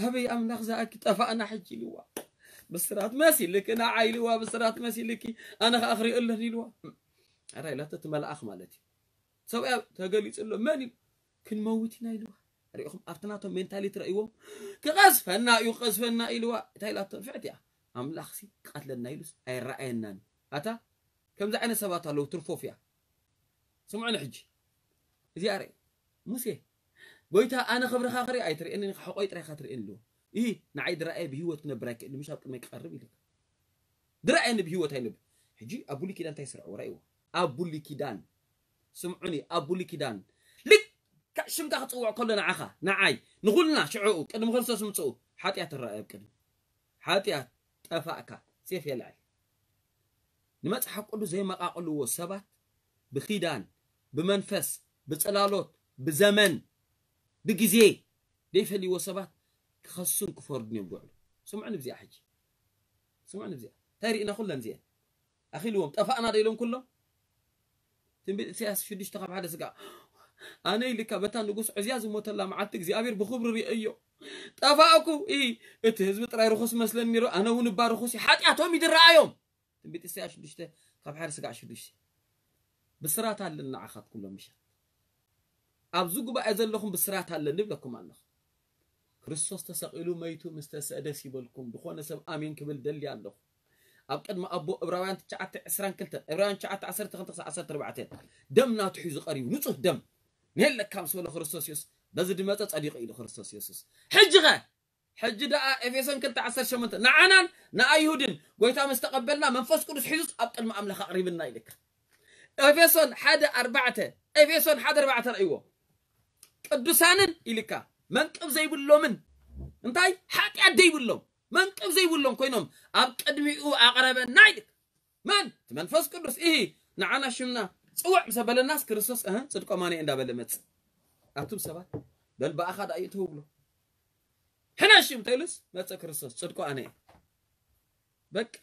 ኣበይ ኣምላኽ ዝኣኪ? ጠፋእና ሕጂ ኢልዋ። ብስራት መሲልኪ ንዓይ ኢልዋ፣ ብስራት መሲልኪ፣ ኣነ ኸኣ ክሪኦ ኣለኒ ኢልዋ። ኣራ ኢላቶ፣ እቲ መልኣኽ ማለት እዩ። ሰብኣያ ተገሊጹ ኣሎ፣ መን ኢሉ? ክንመውት ኢና ኢልዋ። ርኢኹም፣ ኣብቲ ናቶም ሜንታሊቲ ረእይዎም፣ ክቐዝፈና እዩ፣ ክቐዝፈና ኢልዋ። እንታይ ኢላቶ? ንፍዕቲ እያ። ኣምላኽሲ ክቐትለና ኢሉስ ኣይረኣየናን። ኣታ፣ ከምዚ ዓይነት ሰባት ኣለዉ፣ ትርፎፍያ። ስምዑኒ ሕጂ። እዚኣ ርእ። ሙሴ፣ ጎይታ፣ ኣነ ክብርኻ ክርኢ ኣይትርእየኒ፣ ሕቖይ ጥራይ ኢኻ ትርእየኒ ኣለዎ። ይሂ፣ ንዓይ ድረኣየ ብህይወት ክነብር ኣይክእልን፣ ምሽ ኣብ ቅድመይ ክቐርብ ኢሉ። ድረኣየኒ ብህይወት ኣይነብር። ሕጂ ኣብ ብሉይ ኪዳን እንታይ ይስርዕዎ? ረእይዎ። ኣብ ብሉይ ኪዳን። ስምዑኒ፣ ኣብ ብሉይ ኪዳን። ልክዕ ሽምካ ክጽውዕ ከሎ ንዓኻ፣ ንዓይ፣ ንኹልና ሽዕኡ፣ ቅድሚ ክርስቶስ ምጽኡ፣ ሓጢኣት ትረኣየ ኣብ ቅድሚ። ሓጢኣት፣ ጠፋእካ፣ ሴፍ የልዕል። ንመጽሓፍ ቅዱስ ዘይመቓቕልዎ ሰባት ብኪዳን፣ ብመንፈስ፣ ብጽላሎት፣ ብዘመን፣ ብግዜ ዘይፈልይዎ ሰባት ክኸሱን ክፈርዱን እዮም ዝውዕሉ። ስምዑኒ ብዚኣ ሕጂ። ስምዑኒ ብዚኣ። እንታይ ርኢና ኩለን እዚአን? ኣኺልዎም፣ ጠፋእና ዶ ኢሎም ኩሎም? ትንቢት ኢሳያስ ሽዱሽተ ካብ ሓደ ስጋ። ኣነ ኢልካ በታ ንጉስ ዕዝያ ዝሞተላ መዓልቲ እግዚኣብሔር ብኽብሪ ርእዮ። ጠፋእኩ፣ ኢ፣ እቲ ህዝቢ ጥራይ ርኹስ መስለኒ ነይሩ፣ ኣነ እውን እባ ርኹስ እየ። ሓጢኣቶም እዩ ዝረኣዮም። ትንቢት ኢሳያስ ሽዱሽተ ካብ ሓደ ስጋዕ ሽዱሽተ። ብስራት ኣለኒ ንዓኻት ኩሎም ምሻት። ኣብዚ ጉባኤ ዘለኹም ብስራት ኣለኒ እብለኩም ኣለኹ። ክርስቶስ ተሰቒሉ መይቱ ምስ ተስአ ደስ ይበልኩም። ዝኾነ ሰብ ኣሜን ክብል ደሊ ኣለኹ። ኣብ ቅድሚ ኣቦ ዕብራውያን ትሽዓተ ዕስራን ክልተን፣ ዕብራውያን ትሽዓተ ዓሰርተ ክልተ ክሳዕ ዓሰርተ ኣርባዕተ፣ ደም ናቱ ሒዙ ቀሪቡ፣ ንጹህ ደም። ንየለካ ምስ በሎ ክርስቶስ የሱስ፣ በዚ ድመጸ ጸዲቑ ኢሉ ክርስቶስ የሱስ። ሕጂ ኸ? ሕጂ ደኣ ኤፌሶን ክልተ ዓሰርተ ሸሞንተ ንዓናን ንኣይሁድን ጎይታ ምስ ተቐበልና መንፈስ ቅዱስ ሒዙስ ኣብ ቅድሚ ኣምላኽ ኣቕሪብና ኢልካ። ኤፌሶን ሓደ ኣርባዕተ፣ ኤፌሶን ሓደ ኣርባዕተ ረእይዎ። ቅዱሳንን ኢልካ መንቅብ ዘይብሎምን፣ እንታይ? ሓጢኣት ዘይብሎም፣ መንቅብ ዘይብሎም ኮይኖም ኣብ ቅድሚኡ ኣቕረበና ኢልካ። መን? እቲ መንፈስ ቅዱስ። ኢሂ፣ ንዓና ሽምና ጽውዕ ምስ ኣበለናስ ክርስቶስ፣ እህ፣ ጽድቆም ኣነ እየ እንዳበለ መጽእ። ኣቱም ሰባት፣ በል ብኣኻ ደኣ እዩ ትብሎ። ሕነ ሽም ተይሉስ መጸ ክርስቶስ፣ ጽድቁ ኣነ እየ። በቃ፣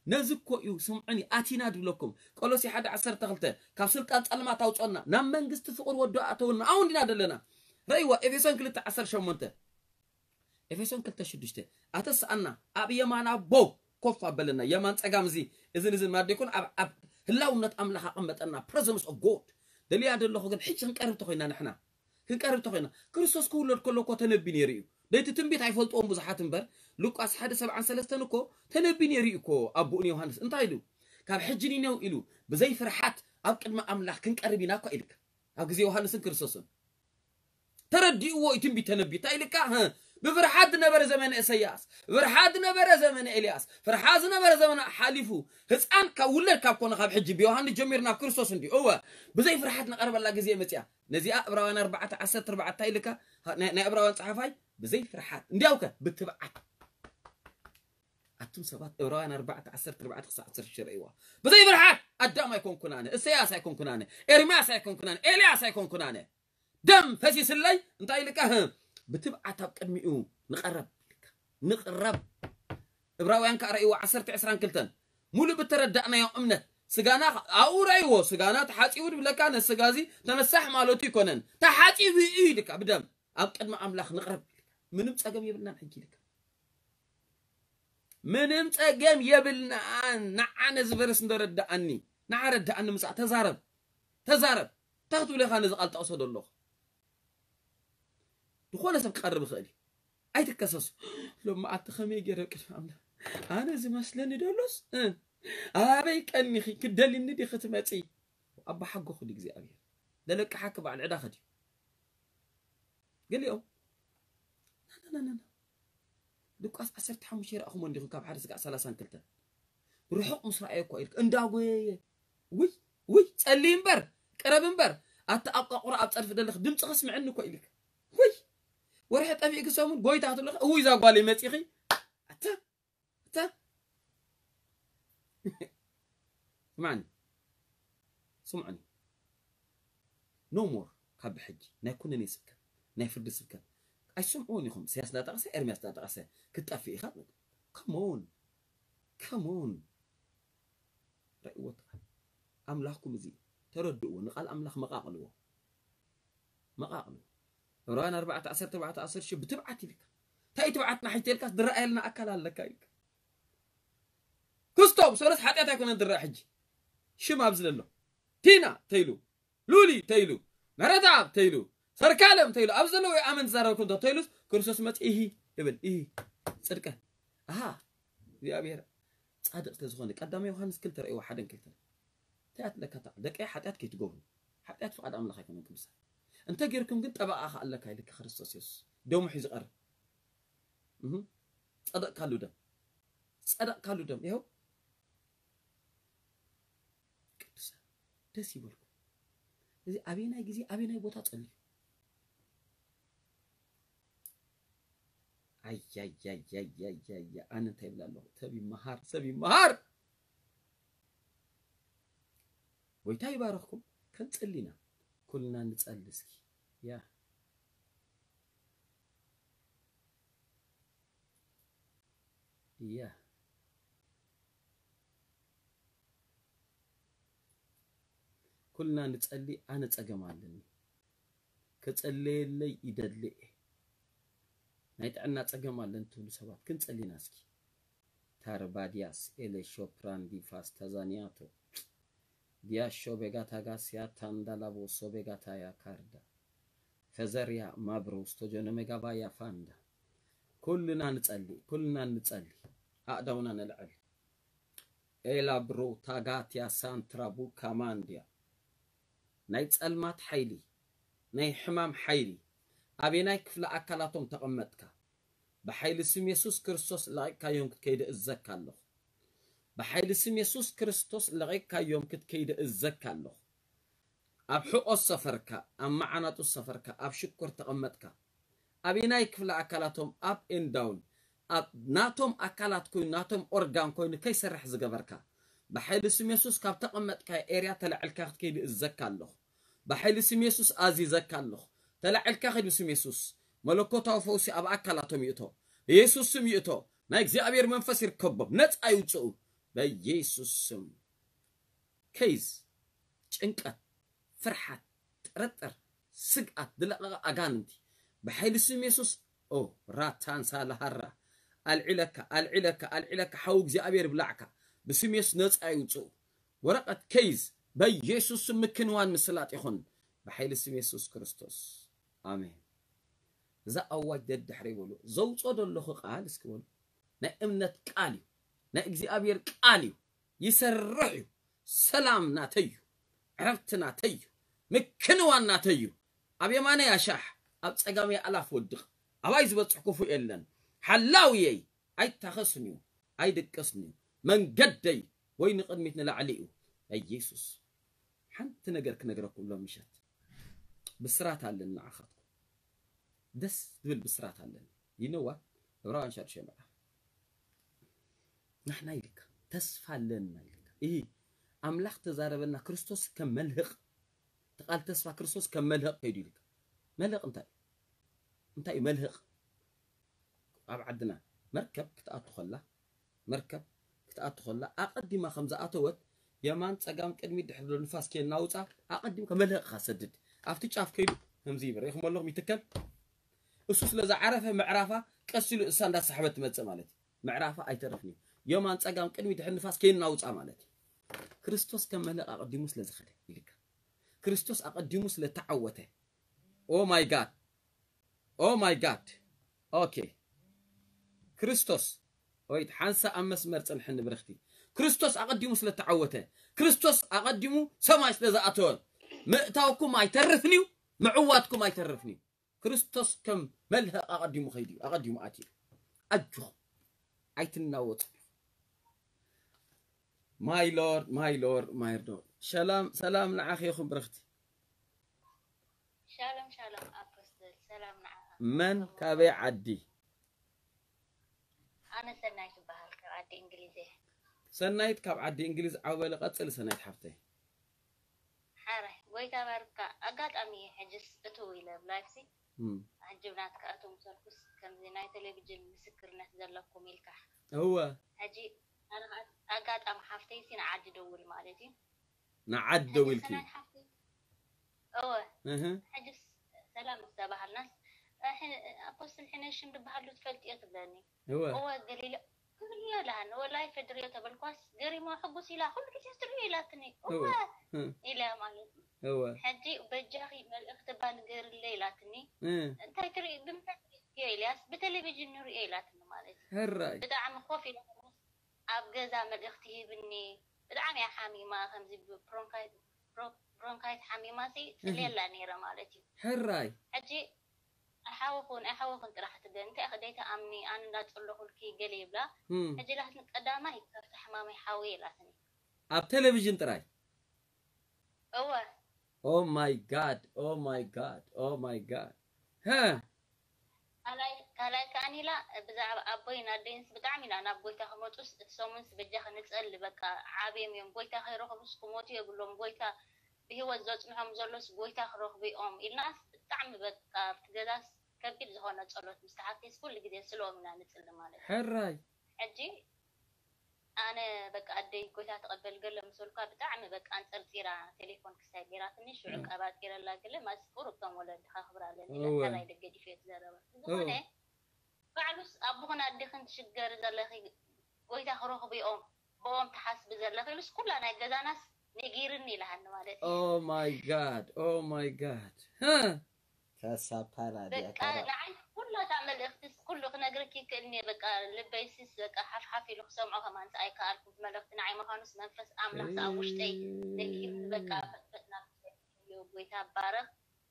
ነዚ እኮ እዩ፣ ስምዑኒ፣ ኣቲና ድብለኩም። ቆሎሴ ሓደ ዓሰርተ ክልተ፣ ካብ ስልጣን ጸልማት ኣውጾና፣ ናብ መንግስቲ ፍቕሪ ወዶ ኣእተውና። ኣብኡ እንዲና ዘለና። ረእይዋ፣ ኤፌሶን ክልተ ዓሰርተ ሸሞንተ። ኤፌሶን ክልተ ሽዱሽተ፣ ኣተስኣና፣ ኣብ የማን ኣቦ ኮፍ ኣበለና። የማን ጸጋም እዚ፣ እዝን እዝን ማለት ደይኮን፣ ኣብ፣ ኣብ ህላውነት ኣምላኽ ኣቐመጠና። Presence of God። ደልያ ደለኹ ግን፣ ሕጂ ክንቀርብ ተኾይና ንሕና። ክንቀርብ ተኾይና። ክርስቶስ ክውለድ ከሎ እኮ ተነቢ ነይሩ እዩ። ደይቲ ትንቢት ኣይፈልጥዎም ብዙሓት እምበር፣ ሉቃስ ሓደ ሰብዓን ሰለስተን እኮ ተነቢ ነይሩ እዩ እኮ ኣቦኡ ንዮሃንስ። እንታይ ኢሉ? ካብ ሕጂ ንነው ኢሉ፣ ብዘይ ፍርሓት ኣብ ቅድሚ ኣምላኽ ክንቀርብ ኢና እኮ ኢልካ። ኣብ ግዜ ዮሃንስን ክርስቶስን። ተረዲእዎ እዩ ትንቢት ተነቢ። እንታይ ኢልካ? ህ፣ ብፍርሓት ዝነበረ ዘመነ ኢሳያስ፣ ፍርሓት ዝነበረ ዘመነ ኤልያስ፣ ፍርሓት ዝነበረ ዘመነ ሓሊፉ፣ ህፃን ካብ ውለድ ካብ ኮነ ካብ ሕጂ ብዮሃንስ ጀሚሩ ናብ ክርስቶስ እንዲዩ። እወ፣ ብዘይ ፍርሓት ንቐርበላ ግዜ መፅያ። ነዚኣ ዕብራውያን ኣርባዕተ ዓሰርተ ኣርባዕተ እንታይ ኢልካ? ናይ፣ ናይ ዕብራውያን ፀሓፋይ ብዘይ ፍርሓት፣ እንዲያውከ ብትብዓት። ኣቱም ሰባት ዕብራውያን ኣርባዕተ ዓሰርተ ኣርባዕተ ክሳዕ ዓሰርተ ሽዱሽተ ረእይዋ። ብዘይ ብርሃን ኣዳም ኣይኮንኩን ኣነ፣ እሰያስ ኣይኮንኩን ኣነ፣ ኤርምያስ ኣይኮንኩን ኣነ፣ ኤልያስ ኣይኮንኩን ኣነ። ደም ፈሲስለይ እንታይ ኢልካ? ብትብዓት ኣብ ቅድሚኡ ንቐረብ። ንቕረብ። ዕብራውያን ከዓ ረእይዎ ዓሰርተ ዕስራን ክልተን። ሙሉእ ብተረዳእናዮ እምነት ስጋና ኣብኡ ረእይዎ፣ ስጋና ተሓፂቡ ድብለካ ነቲ ስጋ እዚ ተነሳሕ ማለቱ ይኮነን። ተሓፂቡ እዩ ኢልካ ብደም ኣብ ቅድሚ ኣምላኽ ንቕረብ። ምንም ፀገም የብልናን ሕጂ ኢልካ። ምንም ፀገም የብልናን። ንዓ ነዚ ቨርስ እንደረዳኣኒ፣ ንዓ ረዳኣኒ ምፃእ። ተዛረብ፣ ተዛረብ። እንታይ ክትብል ኢኻ ነዚ ቃል ጠቕሶ ዘለኹ? ዝኾነ ሰብ ክቐርብ ይኽእል እዩ። ኣይትከሰሱ። ሎም መዓልቲ ከመይ ገይረ ቅድሚ ኣምላኽ ኣነ ዝመስለኒ ደሎስ፣ እ፣ ኣበይ ቀኒኺ ክትደልኒ ዲኺ ትመጺ? ኣባ ሓጎኹ ድዩ እግዚኣብሔር? ደለቅሓኪ በዓል ዕዳኺ ድዩ? ገሊኦም ናናናና ድቋስ ዓሰርተ ሓሙሽተ ይረኣኹሞ እንዲኹም ካብ ሓደ ስጋዕ ሰላሳን ክልተን ርሑቕ ምስ ረኣየ እኮ ኢልክ እንዳጎየየ ውይ ውይ ጸሊ እምበር ቅረብ እምበር ኣታ ኣቋቑራ ኣብ ጸድፊ ደለኽ ድምፅኺ ስምዕኒ እኮ ኢልክ ውይ ወርሒ ጠፊእክ ሰሙን ጎይታ ክትብለኽ እውይ እዛ ጓለይ መፂኺ ኣታ ኣታ ስማዕኒ ስምዑኒ no more ካብ ብሕጂ ናይ ኩነኔ ስብከት ናይ ፍርዲ ስብከት ኣይሰምዕዎን ኢኹም ኢሳያስ እንዳጠቐሰ ኤርምያስ እንዳጠቐሰ ክትጠፍእ ኢኻ come on come on ረእይዎ ኣምላኽኩም እዚ ተረድእዎ ንቓል ኣምላኽ መቓቕልዎ መቓቕልዎ ዕብራውያን ኣርባዕተ ዓሰርተ ኣርባዕተ ዓሰርተ ሽዱሽተ ብትብዓት ኢልካ እንታይ ትብዓትና ሕጂ ኢልካ ዝረኣየልና ኣካል ኣለካ ኢልካ ክስቶም ሰለስ ሓጢኣት ኣይኮነን ዝረኣ ሕጂ ሽም ኣብዚ ዘሎ ቲና ተይሉ ሉሊ ተይሉ ምሕረተኣብ ተይሉ ሰርካለም ተይሉ ኣብዚ ዘለዉ ኣመንቲ ዝዛረበኩም እንተ ተይሉስ ክርስቶስ መፂ ኢሂ ይብል ኢሂ ፅድቀ ኣሃ እግዚኣብሔር ፃድቅ ስለዝኾነ ቀዳማይ ዮሃንስ ክልተ ረእይዎ ሓደን ክልተን እንታይ ኣትለካ ደቀይ ሓጢኣት ከይትገብሩ ሓጢኣት ፍቓድ ኣምላኽ ኣይኮነን ቅዱሳን እንተ ጌርኩም ግን ጠበቓ ከ ኣለካ ኢልካ ክርስቶስ የሱስ ደሙ ሒዙ ቀርብ ጸደቕካሉ ደም ጸደቕካሉ ደም ይኸው ቅዱሳን ደስ ይበልኩም እዚ ኣበየናይ ግዜ ኣበየናይ ቦታ ጸልዩ ኣያያያያያያ ኣነ እንታይ ይብላ ኣለኹ ሰብ ይመሃር ሰብ ይመሃር ጎይታ ይባረኽኩም ከንጽሊ ኢና ኩልና ንጸሊ እስኪ ያ ያ ኩልና ንጸሊ ኣነ ጸገም ኣለኒ ከጸለየለይ ይደሊ እየ ናይ ጥዕና ጸገም ኣለኒ ትብሉ ሰባት ክንጸሊና እስኪ ታርባዲያስ ኤሌሾፕራንዲፋስ ታዛኒያቶ ዲያሾ ቤጋታጋስያ ታንዳላቦሶ ቤጋታያ ካርዳ ፈዘርያ ማብሮ ስቶጆኖ ሜጋባያ ፋንዳ ኩልና ንጸሊ ኩልና ንጸሊ ኣእዳውና ነልዕል ኤላ ብሮ ታጋትያ ሳንትራ ቡካ ማንድያ ናይ ጸልማት ሓይሊ ናይ ሕማም ሓይሊ ኣበየናይ ክፍለ ኣካላቶም ተቐመጥካ ብሓይሊ ስም የሱስ ክርስቶስ ለቒቕካዮም ክትከይድ እእዘካ ኣለኹ። ብሓይሊ ስም የሱስ ክርስቶስ ለቒቕካዮም ክትከይድ እእዘካ ኣለኹ። ኣብ ሕቖ ዝሰፈርካ፣ ኣብ መዓናጡ ዝሰፈርካ፣ ኣብ ሽኮር ተቐመጥካ፣ ኣበየናይ ክፍለ ኣካላቶም up and down ኣብ ናቶም ኣካላት ኮይኑ ናቶም ኦርጋን ኮይኑ ከይሰርሕ ዝገበርካ ብሓይሊ ስም የሱስ ካብ ተቐመጥካዮ ኤርያ ተላዒልካ ክትከይድ እእዘካ ኣለኹ። ብሓይሊ ስም የሱስ ኣዚዘካ ኣለኹ። ተላዒልካ ኺድ ብስም የሱስ። መለኮታዊ ፈውሲ ኣብ ኣካላቶም ይእቶ። ብየሱስ ስም ይእቶ። ናይ እግዚኣብሔር መንፈስ ይርከቦም። ነጻ ይውፅኡ። በየሱስ ስም። ኬዝ፣ ጭንቀት፣ ፍርሓት፣ ጥርጥር፣ ስግኣት፣ ዝለቐቐ ኣጋንንቲ ብሓይሊ ስም የሱስ ኦ ራታንሳ ለሃራ ኣልዒለካ ኣልዒለካ ኣልዒለካ ሓው እግዚኣብሔር ብላዕካ ብስም የሱስ ነፃ ይውፅኡ። ወረቐት ኬዝ በየሱስ ስም ምክንዋን ምስላጥ ይኹን ብሓይሊ ስም የሱስ ክርስቶስ ኣሜን። እዛ ኣዋጅ ደድሕሪ ይበሉ ዘውፅኦ ዘለኹ ቃል እስኪ በሉ ናይ እምነት ቃል እዩ ናይ እግዚኣብሔር ቃል እዩ ይሰርሕ እዩ ሰላም ናተይ እዩ ዕረፍቲ ናተይ እዩ ምክንዋን ናተይ እዩ ኣብ የማነይ ኣሻሕ ኣብ ጸጋመይ ኣላፍ ወድቕ ኣባይ ዝበጽሕ ክፉእ የለን ሓላውየይ ኣይታኸስን እዩ ኣይድቅስን እዩ መንገደይ ወይ ንቕድሚት ንላዕሊ እዩ በኢየሱስ ሓንቲ ነገር ክነግረኩም ሎም ምሸት ብስራት ኣለኒ ንዓኻትኩም ደስ ዝብል ብስራት ኣለኒ ይነዋ ዕብራውያን ሻድሻይ ምዕራፍ ንሕና ኢልካ ተስፋ ኣለና ኢልካ። እሂ፣ ኣምላኽ ተዛረበና፣ ክርስቶስ ከም መልህቕ፣ እቲ ቃል ተስፋ ክርስቶስ ከም መልህቕ ከይዱ ኢልካ። መልህቕ እንታይ እዩ? እንታይ እዩ መልህቕ? ኣብ ዓድና መርከብ ክትኣቱ ከላ፣ መርከብ ክትኣቱ ከላ ኣቐዲማ ከም ዝኣተወት የማን ጸጋም ቅድሚት ድሕሪ ንፋስ ከየናውጻ ኣቐዲምካ መልህቕኻ ሰድድ። ኣብቲ ጫፍ ከይዱ ከምዚ ይብል። ርኢኹም ኣለኹም ይትከል። እሱ ስለ ዝዓረፈ ምዕራፋ ቀስ ኢሉ እሳ እንዳሳሕበት ትመጽእ ማለት እዩ። ምዕራፋ ኣይተርፍን እዩ። የማን ጸጋም ቅድሚት ድሕሪ ንፋስ ከየናውጻ ማለት እዩ። ክርስቶስ ከም መልህቕ ኣቐዲሙ ስለ ዝኸደ ኢልካ። ክርስቶስ ኣቐዲሙ ስለ ተዓወተ። Oh my God. Oh my God. ኦኬ። ክርስቶስ፣ ወይ ሓንሳ ኣብ መስመር ጽንሕኒ ብርኽቲ። ክርስቶስ ኣቐዲሙ ስለ ተዓወተ፣ ክርስቶስ ኣቐዲሙ ሰማይ ስለ ዝኣተወ፣ ምእታውኩም ኣይተርፍን እዩ፣ ምዕዋትኩም ኣይተርፍን እዩ። ክርስቶስ ከም መልህቕ ኣቐዲሙ ከይዱ እዩ፣ ኣቐዲሙ ኣትዩ። ኣጆኹም፣ ኣይትናወጹ። My Lord, my Lord, my Lord። ሰላም፣ ሰላም ንዓኺ ይኹን ብርኽቲ። ሻሎም ሻሎም ኣፖስትል፣ ሰላም ንዓኻ። መን ካበይ ዓዲ? ኣነ ሰናይት ይበሃል፣ ካብ ዓዲ እንግሊዝ እየ። ሰናይት ካብ ዓዲ እንግሊዝ፣ ዓው በሊ፣ ቀጽሊ ሰናይት ሓፍተይ። ሓራይ፣ ጎይታ ባርካ። ኣጋጣሚ ሕጅስ እትው ኢለ ብላይፍሲ፣ እም፣ ሕጂ ብናትካ እትው ምሰልኩስ ከምዚ ናይ ቴሌቪዥን ምስክርነት ዘለኩም ኢልካ። እወ። ሕጂ ኣነ ኸዓ ኣጋጣሚ ሓፍተይሲ ንዓዲ ደውል ማለት እዩ። ንዓዲ ደዊልኪ? ሰናይት ሓፍተይ። እወ። እህ። ሕጅስ ሰላም ምስ ተባሃልናስ፣ እ፣ ሕነ-፣ ኣፖስትል ሕነ ሽም ዝበሃሉ ትፈልጥዮ ትብለኒ። እወ። እወ ገሊለ ክብልዮ ኢላሃኒ። ወላይ ፈድርዮ ተበልኳስ ገሪሞ ሕጉስ ኢላ ኩሉ ግዜ ትርእዮ ኢላትኒ። እወ። እወ እህ። ኢለ ማለት እዩ። እወ። ሕጂ በጃኺ መልእኽቲ እባ ንገርለይ ኢላትኒ። እህ። እንታይ ትርኢ፣ ብምንታይ ትርእዮ ኢልያስ፣ ብቴሌቪዥን ንርእዮ ኢላትኒ ማለት እዩ። ሕራይ። ብጣዕሚ ኮፍ ኢለ ኣብ ገዛ መልእኽቲ ሂብኒ። ብጣዕሚ እያ ሓሚማ፣ ከምዚ ብብሮንካይት፣ ብሮ-፣ ብሮንካይት ሓሚማ ሲ ጽልየላ ነይረ ማለት እዩ። ሕራይ። ሕጂ ኣይሓወኹን፣ ኣይሓወኹን ጥራሕ ትብለኒ። እንታይ ኢኺ ደይትኣምኒ፣ ኣነ እንዳጸለኹልኪ ገለ ይብላ። እም። ሕጂ ኢላትኒ ቀዳማይ ካብቲ ሕማመይ ሓወየ ኢላትኒ። ኣብ ቴሌቪዥን ጥራይ? እወ። Oh my God, oh my God, oh my God። ሀ። ካልኣይ፣ ካልኣይ ከኣኒ ኢላ ብዛዕባ ኣቦይን ኣደይንስ ብጣዕሚ ኢና ናብ ጎይታ ክመጹስ እቲ ሰሙንስ በጃኺ ንጸሊ፣ በቃ ዓብዮም እዮም፣ ጎይታ ከይረኸቡስ ክሞቱ የብሎም፣ ጎይታ ብህይወት ዘጽንሖም ዘሎስ ጎይታ ክረኽቡ እዮም ኢልናስ ብጣዕሚ በቃ ኣብቲ ገዛስ ከቢድ ዝኾነ ጸሎት ምስ ተሓኪስ ኩሉ ግዜ ስለኦም ኢና ንጽሊ ማለት እዩ። ሕራይ። ሕጂ ኣነ በቃ ኣደይ ጎይታ ተቐበል ገለ ምስ በልኳ ብጣዕሚ በቃ ኣንጸርጺራ ቴሌፎን ክሳይ ገይራትኒ ሽዑ እም። ቀባጢረላ ገለ ማስ ቁሩብ ከም ወለድኻ ክብር ኣለኒ እወ። ኢላ ካላይ ደገዲፈዮ ዝዛረባ። ዝኾነ እወ። ባዕሉስ ኣቦኽን ኣዴኽን ትሽገሪ ዘለኺ ጎይታ ክረኽቡ እዮም ብኦም ትሓስቢ ዘለኺ ኢሉስ ኩላ ናይ ገዛናስ ነጊርኒ ኢላሃኒ ማለት እዩ። Oh my God, oh my God። ሀ። ከሳፓላ በቃ ዲያካራ። ንዓይ ኩላታ መልእኽትስ ኩሉ ክነግረኪ ይክእል እየ። በቃ ልበይስስ በቃ ሓፍሓፍ ኢሉ ክሰምዖ ከማን ኣይከኣልኩ። መልእኽቲ ንዓይ ምዃኑስ መንፈስ ኣምላኽ ኣብ ውሽጠይ ነጊርኒ በቃ ፈጥፈጥና። ጎይታ ባረኽ።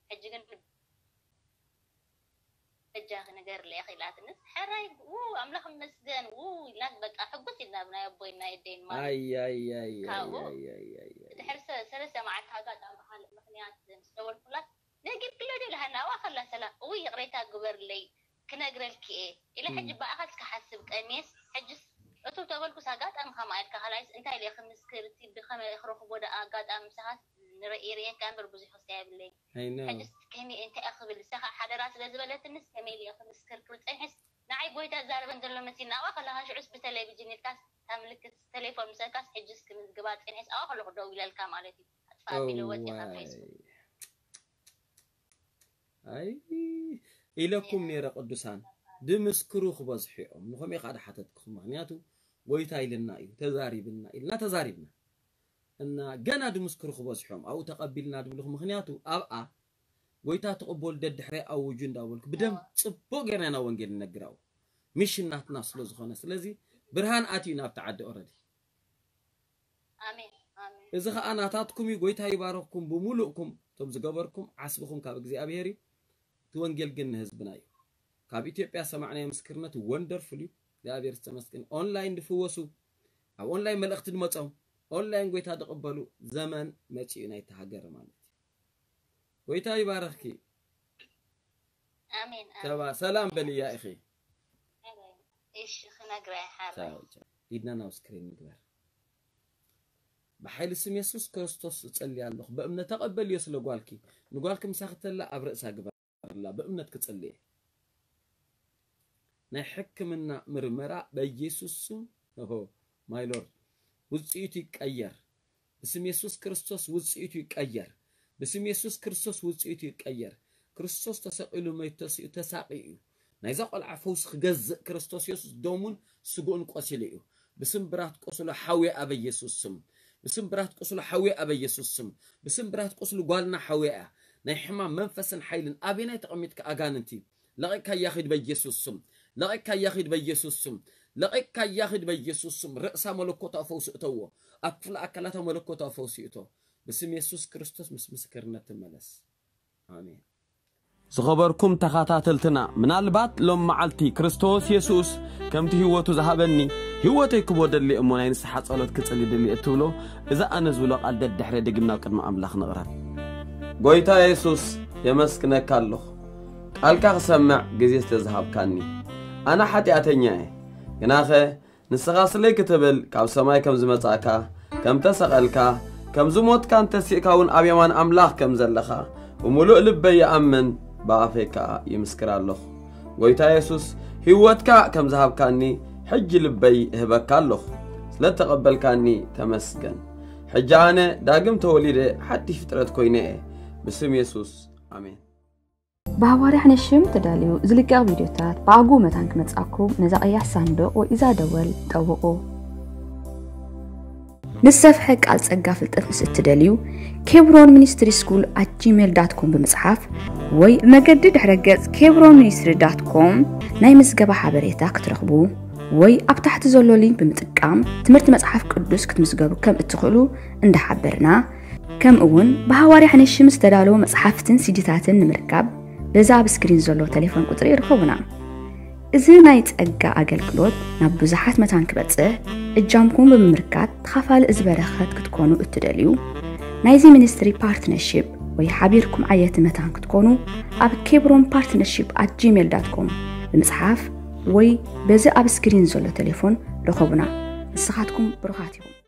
ሕጂ ግን በጃኺ ንገርለይ ኢኺ ኢላትንስ፣ ሕራይ፣ ው፣ ኣምላኽ ይመስገን፣ ው፣ ኢልናስ በቃ ሕጉስ ኢልና ብናይ ኣቦይን ናይ ኣደይን ማለት እዩ። ኣይ፣ ኣይ፣ ኣይ፣ ካብኡ ኣይ፣ ኣይ፣ ኣይ፣ ኣይ። ድሕሪ ሰ-፣ ሰለስተ መዓልቲ ኣጋጣሚ ብኻልእ ምኽንያት ምስ ደወልኩላ፣ ነጊርክለይ ዶ ኢላሃኒ፣ ኣብኣ ከላ ሰላም፣ እውይ ይቕሬታ ግበርለይ፣ ክነግረልኪ እየ ኢለ፣ እም። ሕጂ ብኣኻስ ክሓስብ ቀንየስ፣ ሕጅስ እቱ ተበልኩስ ኣጋጣሚ ከምኣ ኢልካ፣ ካልኣይስ እንታይ ኢለ ክምስክር፣ እቲ ብኸመይ ክረኽቦ ደኣ ኣጋጣሚ ምሳኻስ ንርኢ፣ ርእየካ እምበር ብዙሕ ክስታይ የብለይ። I know። ሕጅስ ከመይ እንታይ እየ ክብል፣ ንሳ ከዓ ሓደራ ስለ ዝበለትንስ ከመይ ኢለ ክምስክር ክብል ጸኒሐስ፣ ንዓይ ጎይታ ዛረበን ዘሎ መሲልና፣ ኣብኣ ከለኻ ሽዑስ ብቴሌቪዥን ኢልካስ፣ እታ ምልክት ቴሌፎን ምሰልካስ፣ ሕጅስ ክምዝግባ ጸኒሐስ፣ ኣብኣ ከለኹ ደው ኢለልካ ማለት እዩ። ኣጥፋ ኣቢለ ወዲኻ እዋይ። ፌስቡክ። ኣይ፣ ኢለኩም ነይረ ቅዱሳን፣ ድምስክሩ ክበዝሑ እዮም። ንኸምኡ ከዓ ድሓተትኩኹም። ምኽንያቱ፣ ጎይታ ኢልና እዩ፣ ተዛሪብና ኢልና ተዛሪብና። እና ገና ድምስክሩ ክበዝሑ እዮም። ኣብኡ ተቐቢልና ድብልኹ። ምኽንያቱ፣ ኣብኣ ጎይታ ትቕበሉ ደድሕረይ ኣውጁ እንዳበልኩ፣ ብደም ጽቡቕ ጌርና ኢና ወንጌል ንነግር ኣብኡ። ሚሽን ናትና ስለ ዝኾነ። ስለዚ፣ ብርሃን ኣትዩ ናብቲ ዓዲ ኦረዲ። ኣሜን፣ ኣሜን። እዚ ኸኣ ናታትኩም እዩ። ጎይታ ይባርኽኩም ብምሉእኩም። እቶም ዝገበርኩም ዓስብኹም ካብ እግዚኣብሔር እዩ። እቲ ወንጌል ግን ንህዝብና እዩ። ካብ ኢትዮጵያ ሰማዕናዮ ምስክርነት ወንደርፉል እዩ። እግዚኣብሔር ዝተመስገን። ኦንላይን ዝፍወሱ፣ ኣብ ኦንላይን መልእኽቲ ዝመጾም፣ ኦንላይን ጎይታ ዝቕበሉ ዘመን መጺኡ ናይቲ ሃገር ማለት እዩ። ጎይታ ይባርኽኪ። ኣሜን፣ ኣሜን። ሰባ-፣ ሰላም በልያ ኢኺ። እሺ፣ ክነግራ እየ ሓራይ። ቻው፣ ቻው። ኢድና ናብ ስክሪን ንግበር። ብሓይሊ ስም የሱስ ክርስቶስ እጸሊ ኣለኹ። ብእምነት ተቐበልዮ ስለ ጓልኪ። ንጓልኪ ምሳኺ ተላ ኣብ ርእሳ ግበርላ። ብእምነት ክጽልየ። ናይ ሕክምና ምርመራ በኢየሱስ ስም። ኦሆ፣ ማይ ሎርድ። ውጽኢቱ ይቀየር። ብስም የሱስ ክርስቶስ ውጽኢቱ ይቀየር። ብስም የሱስ ክርስቶስ ውጽኢቱ ይቀየር። ክርስቶስ ተሰቒሉ መይቱ ተሲኡ ተሳቒዩ እዩ። ናይዛ ቆልዓ ፈውሲ ክገዝእ ክርስቶስ የሱስ ደሙን ስግኡን ቆሲሉ እዩ። ብስም ብራት ቁስሉ ሓውየ ኣበ ኢየሱስ ስም። ብስም ብራት ቁስሉ ሓውየ ኣበ ኢየሱስ ስም። ብስም ብራት ቁስሉ ጓልና ሓውየ እያ። ናይ ሕማም መንፈስን ሓይልን ኣበየናይ ተቐሚጥካ ኣጋንንቲ ለቒቅካ ያኺድ በኢየሱስ ስም። ለቒቅካ ያኺድ በኢየሱስ ስም። ለቒቅካ ያኺድ በኢየሱስ ስም። ርእሳ መለኮታዊ ፈውሲ እተዎ። ኣብ ክፍለ ኣካላታ መለኮታዊ ፈውሲ እቶ። ብስም የሱስ ክርስቶስ ምስ ምስክርነት ትመለስ። ኣሜን። ዝኸበርኩም ተኸታተልትና፣ ምናልባት ሎም መዓልቲ ክርስቶስ የሱስ ከምቲ ህይወቱ ዝሃበኒ፣ ህይወተይ ክቦ ደሊ እሞ ናይ ንስሓ ጸሎት ክጽሊ ደሊ እትብሎ፣ እዚ ኣነ ዝብሎ ቃል ደድሕረ ደጊምና ኣብ ቅድሚ ኣምላኽ ንቕረብ። ጎይታ የሱስ፣ የመስግነካ ኣለኹ። ቃልካ ክሰምዕ ግዜ ስለ ዝሃብካኒ። ኣነ ሓጢኣተኛ እየ። ግናኸ ንስኻ ስለይ ክትብል ካብ ሰማይ ከም ዝመጻእካ፣ ከም ተሰቐልካ፣ ከም ዝሞትካን ተሲእካ እውን ኣብ የማን ኣምላኽ ከም ዘለኻ ብምሉእ ልበይ ይኣምን፣ ብኣፈይ ከኣ ይምስክር ኣለኹ። ጎይታ የሱስ፣ ህይወትካ ከም ዝሃብካኒ ሕጂ ልበይ እህበካ ኣለኹ። ስለ እተቐበልካኒ ተመስገን። ሕጂ ኣነ ዳግም ተወሊደ ሓድሽ ፍጥረት ኮይነ እየ። ብስም የሱስ፣ ኣሜን። ብሃዋርያ ሕነሽም ተዳልዩ ዝልቀቕ ቪድዮታት ብኣግኡ መታን ክመጻኩም ነዛ ቀያሕ ሳንዱቕ ወይ እዛ ደወል ጠውቑ። ንዝሰፍሐ ቃል ጸጋ ፍልጠት ምስ እትደልዩ፣ ኬብሮን ሚኒስትሪ ስኩል ኣት ጂሜል ዳት ኮም ብምጽሓፍ ወይ ብመገዲ ድሕረ ገጽ ኬብሮን ሚኒስትሪ ዳት ኮም ናይ ምዝገባ ሓበሬታ ክትረኽቡ ወይ ኣብ ታሕቲ ዘሎ ሊንክ ብምጥቃም ትምህርቲ መጽሓፍ ቅዱስ ክትምዝገቡ ከም እትኽእሉ እንዳሓበርና፣ ከምኡ እውን ብሃዋርያ ሕነሽም ዝተዳለዉ መጽሓፍትን ሲዲታትን ንምርካብ በዛ ኣብ ስክሪን ዘሎ ቴሌፎን ቁጽሪ ይርከቡና። እዚ ናይ ጸጋ ኣገልግሎት ናብ ብዙሓት መታን ክበጽሕ እጃምኩም ብምምርካት ተኻፋሊ እዚ በረኸት ክትኮኑ እትደልዩ፣ ናይዚ ሚኒስትሪ ፓርትነርሺፕ ወይ ሓቢርኩም ዓየቲ መታን ክትኮኑ ኣብ ኬብሮን ፓርትነርሺፕ ኣት ጂሜል ዳት ኮም ብምጽሓፍ ወይ በዚ ኣብ ስክሪን ዘሎ ቴሌፎን ርኸቡና። ንስኻትኩም ብሩኻት ኢኹም።